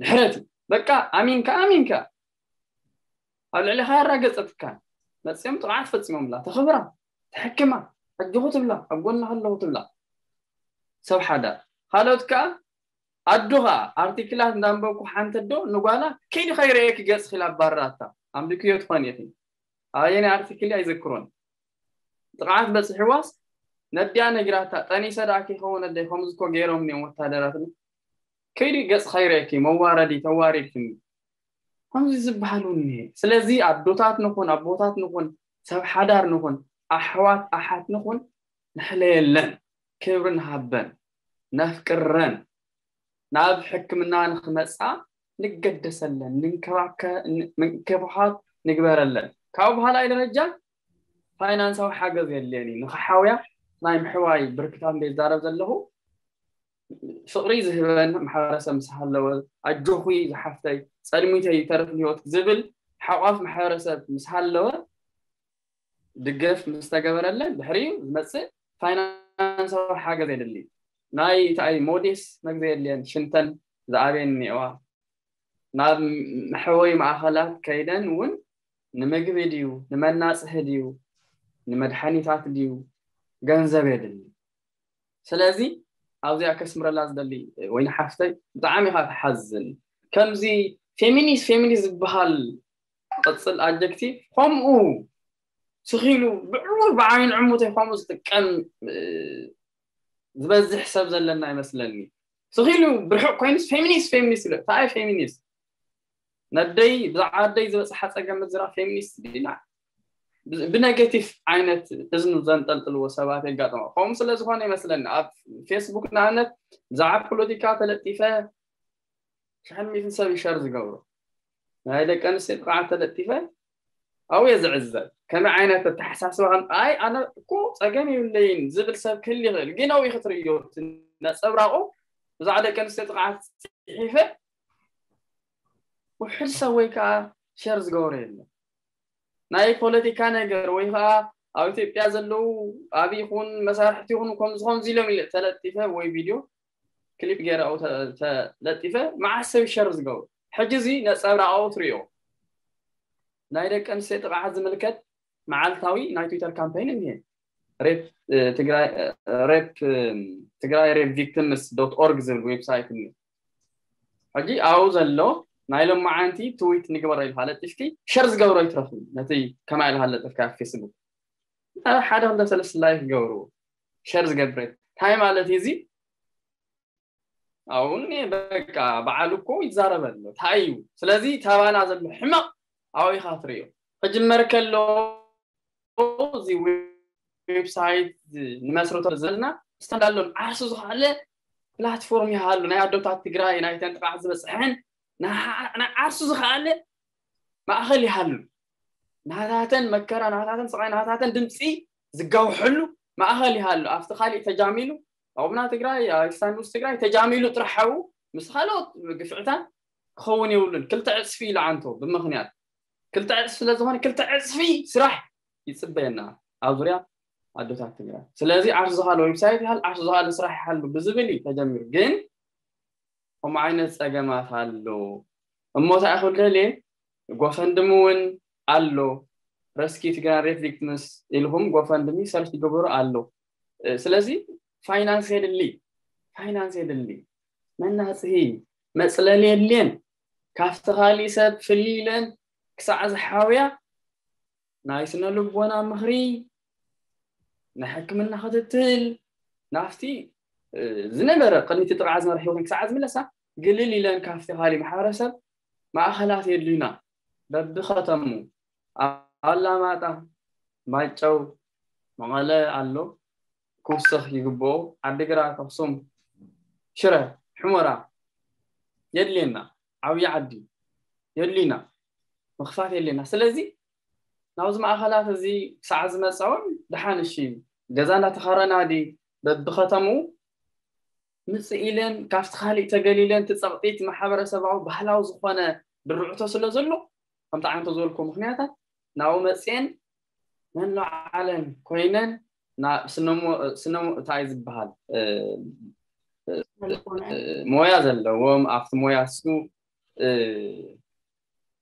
ድሕረት እዩ በቃ ኣሚንካ ኣሚንካ ኣብ ልዕሊኻ ያራገፀትካ መፅኦም ጥቕዓት ፈፂሞምላ ተኽብራ ተሕክማ ኣጆኹ ትብላ ኣብ ጎና ከለኹ ትብላ ሰብ ሓዳር ካልኦት ከዓ ኣዶ ከዓ ኣርቲክላት እንዳንበብኩ ሓንቲ ኣዶ ንጓላ ከይዲ ከይረእየኪ ገፅኺ ኢላ ኣባርራታ ኣንቢክዮ ትኾን ኢኺ ኣየናይ ኣርቲክል ኣይዘክሮን ጥቕዓት በፅሕዋስ ነዲኣ ነጊራታ ጠኒሰ ደኣ ከይኸውን ኣደይ ከምዚ እኮ ገይሮምኒ እዮም ወታደራት ከይዲ ገፅኻ ይረእየኪ መዋረዲ ተዋሪድክኒ ከምዚ ዝበሃል እውን እኒሀ ስለዚ ኣዶታት ንኹን ኣቦታት ንኹን ሰብ ሓዳር ንኹን ኣሕዋት ኣሓት ንኹን ንሕለየለን ክብሪ ንሃበን ነፍቅረን ናብ ሕክምና ንክመፃ ንገደሰለን ምንክብኻብ ንግበረለን ካብ በሃላይ ደረጃ ፋይናንሳዊ ሓገዝ የድልየን እዩ ንክሓውያ ናይ ምሕዋይ ብርክታት እንደ ይዛረብ ዘለኹ ፍቕሪ ዝህበን ማሕበረሰብ ምስ ሃለወ ኣጆኹ ዝሓፍተይ ጸልሚተይ ይተርፍ ህይወት ዝብል ሓቋፍ ማሕበረሰብ ምስ ሃለወ ድገፍ ምስ ተገበረለን ድሕሪኡ ዝመጽእ ፋይናንሳዊ ሓገዝ የድሊ ናይ እንታይ ሞዴስ መግዘ የድልየን ሽንተን ዝኣበየን እኒአዋ ናብ መሕወይ ማእኸላት ከይደን እውን ንምግቢ ድዩ ንመናፅሂ ድዩ ንመድሓኒታት ድዩ ገንዘብ የድሊ ስለዚ ኣብዚኣ ከስምረላ ዝደሊ ወይኒ ሓፍተይ ብጣዕሚ ኢኻ ትሓዝን ከምዚ ፌሚኒስት ፌሚኒስት ዝበሃል ቅፅል ኣጀክቲቭ ከምኡ ስኺሉ ብዕዉር ብዓይን ዕሙተይ ከምኡ ዝጥቀም ዝበዝሕ ሰብ ዘለና ይመስለኒ ስኺሉ ብርሑቕ ኮይኑስ ፌሚኒስት ፌሚኒስት ይለ እንታይ ፌሚኒስት ነደይ ብዛዕባ ኣደይ ዝበፅሓ ፀገም ምዝራብ ፌሚኒስት ዲና ብነጌቲቭ ዓይነት እዝኑ ዘንጠልጥልዎ ሰባት የጋጥሞ ከምኡ ስለ ዝኾነ ይመስለኒ ኣብ ፌስቡክ ንኣብነት ብዛዕባ ፖለቲካ ተለጢፈ ሽሕን ሚእትን ሰብ ይሸር ዝገብሮ ናይ ደቂ ኣንስትዮ ጥቕዓት ተለጢፈ ኣብየ ዝዕዘብ ከመይ ዓይነት ኣተሓሳስባ ከም ኣይ ኣነ እኮ ፀገም የብለይን ዝብል ሰብ ክህል ይኽእል ግን ኣብኡ ክትርእዮ ነፀብራቑ ብዛዕባ ደቂ ኣንስትዮ ጥቕዓት ፅሒፈ ውሕድ ሰብ ወይ ከዓ ሸር ዝገብሮ የለን ናይ ፖለቲካ ነገር ወይ ከዓ ኣብ ኢትዮጵያ ዘለዉ ኣብ ይኹን መሳርሕቲ ይኹን ከምዚ ከምዚ ኢሎም ኢለ ተለጢፈ ወይ ቪድዮ ክሊፕ ገይረ ኣብኡ ተለጢፈ መዓስ ሰብ ሸር ዝገብሩ ሕጂ እዚ ነፀብራቕ ኣብኡ ትሪኦ ናይ ደቂ ኣንስትዮ ጥቕዓት ዝምልከት መዓልታዊ ናይ ትዊተር ካምፓይን እኒሄ። ሬፕ ትግራይ ሬፕ ትግራይ ሬፕ ቪክቲምስ ዶት ኦርግ ዝብል ዌብሳይት እኒሄ። ሕጂ ኣብኡ ዘሎ ናይ ሎማዓንቲ ትዊት ንግበሮ ኢልካ ለጢፍኪ ሸር ዝገብሮ ይትረፍ። ነቲ ከማይ ኢልካ ለጥፍካ ፌስቡክ ሓደ ክልተ ሰለስተ ላይክ ገብርዎ። ሸር ዝገብረ እንታይ ማለት እዩ እዚ? ኣውን በቃ በዓል እኮ ይዛረበ ኣሎ እንታይ እዩ? ስለዚ ተባና ዘሎ ሕመቕ ኣብኡ ኢኻ ትርእዮ። ክጅመር ከሎ እዚ ዌብሳይት ንመስርቶ ዘለና ስታንዳሎን ዓርሱ ዝኸኣለ ፕላትፎርም ይሃሉ ናይ ኣዶታት ትግራይ ናይተን ጥቓዕ ዝበፅሐን ናይ ዓርሱ ዝኸኣለ ማእኸል ይሃሉ። ናታተን መከራ ናታተን ስቓይ ናታተን ድምፂ ዝጋውሐሉ ማእኸል ይሃሉ። ኣብቲ ካሊእ ተጃሚሉ ኣቡና ትግራይ ኣሌክሳንድሮስ ትግራይ ተጃሚሉ ጥራሕ ሓው ምስ ካልኦት ግፍዕታት ክኸውን የብሉን። ክልተ ዕፅፊ ኢሉ ዓንቶ ብምኽንያት ክልተ ዕፅፊ ስለዝኾነ ክልተ ዕፅፊ ስራሕ ይፅበየና ኣብ ዙርያ ኣዶታት ትግራይ። ስለዚ ዓርሱ ዝኻለ ዌብሳይት ይሃል ዓርሱ ዝኻለ ስራሕ ይሃሉ ብዝብል እዩ ተጀሚሩ። ግን ከምኡ ዓይነት ፀገማት ኣሎ እሞ እንታይ ክብል ደልየ ጎፈንድሚ እውን ኣሎ። ረስኪ ትግራይ ሬፕ ቪክቲምስ ኢልኩም ጎፈንድሚ ሰርች ግበሩ ኣሎ። ስለዚ ፋይናንስ የድሊ። ፋይናንስ የድሊ። መናፅሂ መፅለሊ የድልየን። ካብቲ ካሊእ ሰብ ፍልይ ኢለን ክሳዕ ዝሓውያ ናይ ስነ ልቦና ምኽሪ ናይ ሕክምና ክትትል ናብቲ ዝነበረ ቅድሚቲ ጥቕዓ ዝነበረ ህይወትን ክሳዕ ዝምለሳ ግልል ኢለን ካብቲ ካሊእ ማሕበረሰብ ማእኸላት የድልዩና። በብኸተሙ ኣላማጣ፣ ማይጨው፣ መቐለ ኣሎ ክውስኽ ይግብኦ። ዓዲግራት፣ ኣኽሱም፣ ሽረ፣ ሑመራ የድልየና። ዓብዪ ዓዲ የድልዩና። ምኽፋት የድልየና። ስለዚ ናብዚ ማእኸላት እዚ ክሳዕ ዝመፃ እውን ደሓን እሺ ገዛ እናተኸረና ዲ በብኸተምኡ ምፅእ ኢለን ካብቲ ካሊእ ተገሊለን እቲ ፀቕጢት ማሕበረሰባዊ ባህላዊ ዝኾነ ድርዕቶ ስለ ዘሎ ከምቲ ዓንቶ ዝበልኮ ምክንያታት ናብኡ መፅኤን መለዓለን ኮይነን ስነሞ እንታይ ዝበሃል ሞያ ዘለዎም ኣብቲ ሞያ እሱ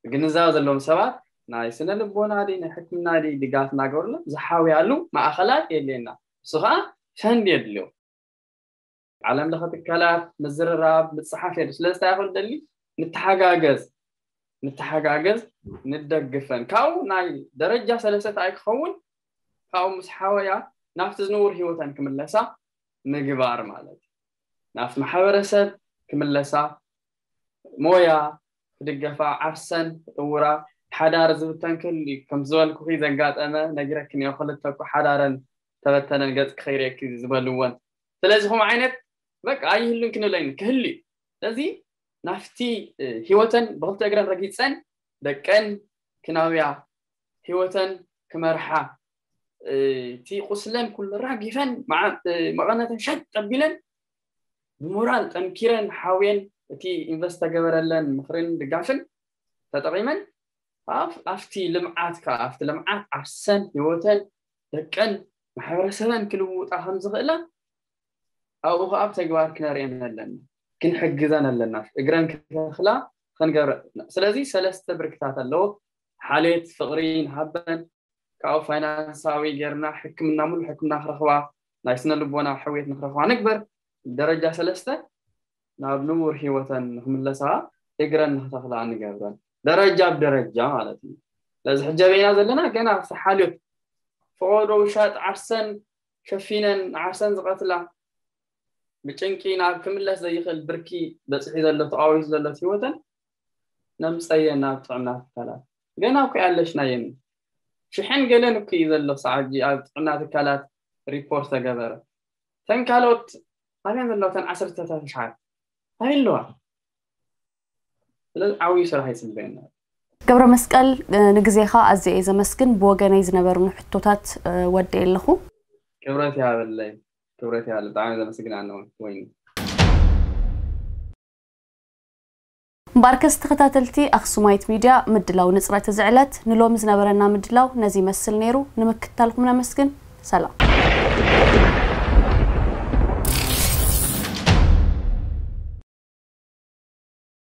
ግንዛበ ዘለዎም ሰባት ናይ ስነ ልቦና ዲ ናይ ሕክምና ዲ ድጋፍ እናገበሩሎም ዝሓውያሉ ማእኸላት የድልየና። እሱ ከዓ ፈንድ የድልዮ። ዓለም ለኸ ትካላት ምዝርራብ ምፅሓፍ የድልዮ። ስለዚ እንታይ ይኽእል ደሊ ንተሓጋገዝ ንተሓጋገዝ ንደግፈን ካብኡ ናይ ደረጃ ሰለሰተ ኣይክኸውን ካብኡ ምስ ሓወያ ናብቲ ዝንውር ህይወተን ክምለሳ ምግባር ማለት እዩ። ናብቲ ማሕበረሰብ ክምለሳ ሞያ ክድገፋ ዓርሰን ክጥውራ ሓዳር ዝብተን ክህሉ እዩ። ከም ዝበልኩኺ ዘጋጠመ ነጊረክን እዮ ክልተ እኮ ሓዳረን ተበተነን ገጽ ክኸይርየኪ ዝበልወን ስለዚ ኹም ዓይነት በቃ ኣይህሉን ክንብለይን ክህሉ እዩ። ስለዚ ናፍቲ ህይወተን ብክልተ እግረን ረጊፀን ደቀን ክናውያ ህይወተን ክመርሓ እቲ ቁስለን ኩሉ ራጊፈን መቐነተን ሸጥ ጠቢለን ብሞራል ጠንኪረን ሓውየን እቲ ኢንቨስት ተገበረለን ምኽርን ድጋፍን ተጠቒመን ኣብቲ ልምዓት ከዓ ኣብቲ ልምዓት ዓርሰን ህይወተን ደቀን ማሕበረሰበን ክልውጣ ከም ዝኽእላ ኣብኡ ከዓ ብተግባር ክነርእየን ኣለና ክንሕግዘን ኣለና እግረን ክተኽላ ክንገብረ ስለዚ ሰለስተ ብርክታት ኣለዎ ሓሌት ፍቕሪ ንሃበን ካብኡ ፋይናንሳዊ ጌርና ሕክምና ሙሉ ሕክምና ክረኽባ ናይ ስነ ልቦና ሕውየት ንክረኽባ ንግበር ደረጃ ሰለስተ ናብ ንቡር ህይወተን ንክምለሳ እግረን ንክተኽላ ንገብረን ደረጃ ብደረጃ ማለት እዩ ስለዚ ሕጂ ኣበይና ዘለና ገና ሓልዮት ፈቐዶ ውሻጥ ዓርሰን ሸፊነን ዓርሰን ዝቐትላ ብጭንቂ ናብ ክምለስ ዘይኽእል ብርኪ በፂሑ ዘሎ ተቓዊሱ ዘሎ ህይወተን ነምፀየን ናብ ጥዕና ትካላት ገና እኮ ኣለሽናየን ሽሕን ገለን እኮ እዩ ዘሎ ክሳዕ ሕጂ ኣብ ጥዕና ትካላት ሪፖርት ተገበረ ተን ካልኦት ኣበየን ዘለዋ ተን ዓሰርተታት ኣሽሓት ኣበይ ኣለዋ ስለዚ ዓብዩ ስራሕ ይፅበየና ገብረ መስቀል ንግዜኻ ኣዝየ እየ ዘመስግን ብወገነይ ዝነበሩኒ ሕቶታት ወደ ኣለኹ ክብረት ይሃበለይ ክብረት ይሃበለይ ብጣዕሚ ዘመስግን ኣነ ወይኒ እምበኣርከስ ተኸታተልቲ ኣኽሱማይት ሚድያ ምድላው ንፅረት እዚ ዕለት ንሎሚ ዝነበረና ምድላው ነዚ ይመስል ነይሩ ንምክትታልኩም ነመስግን ሰላም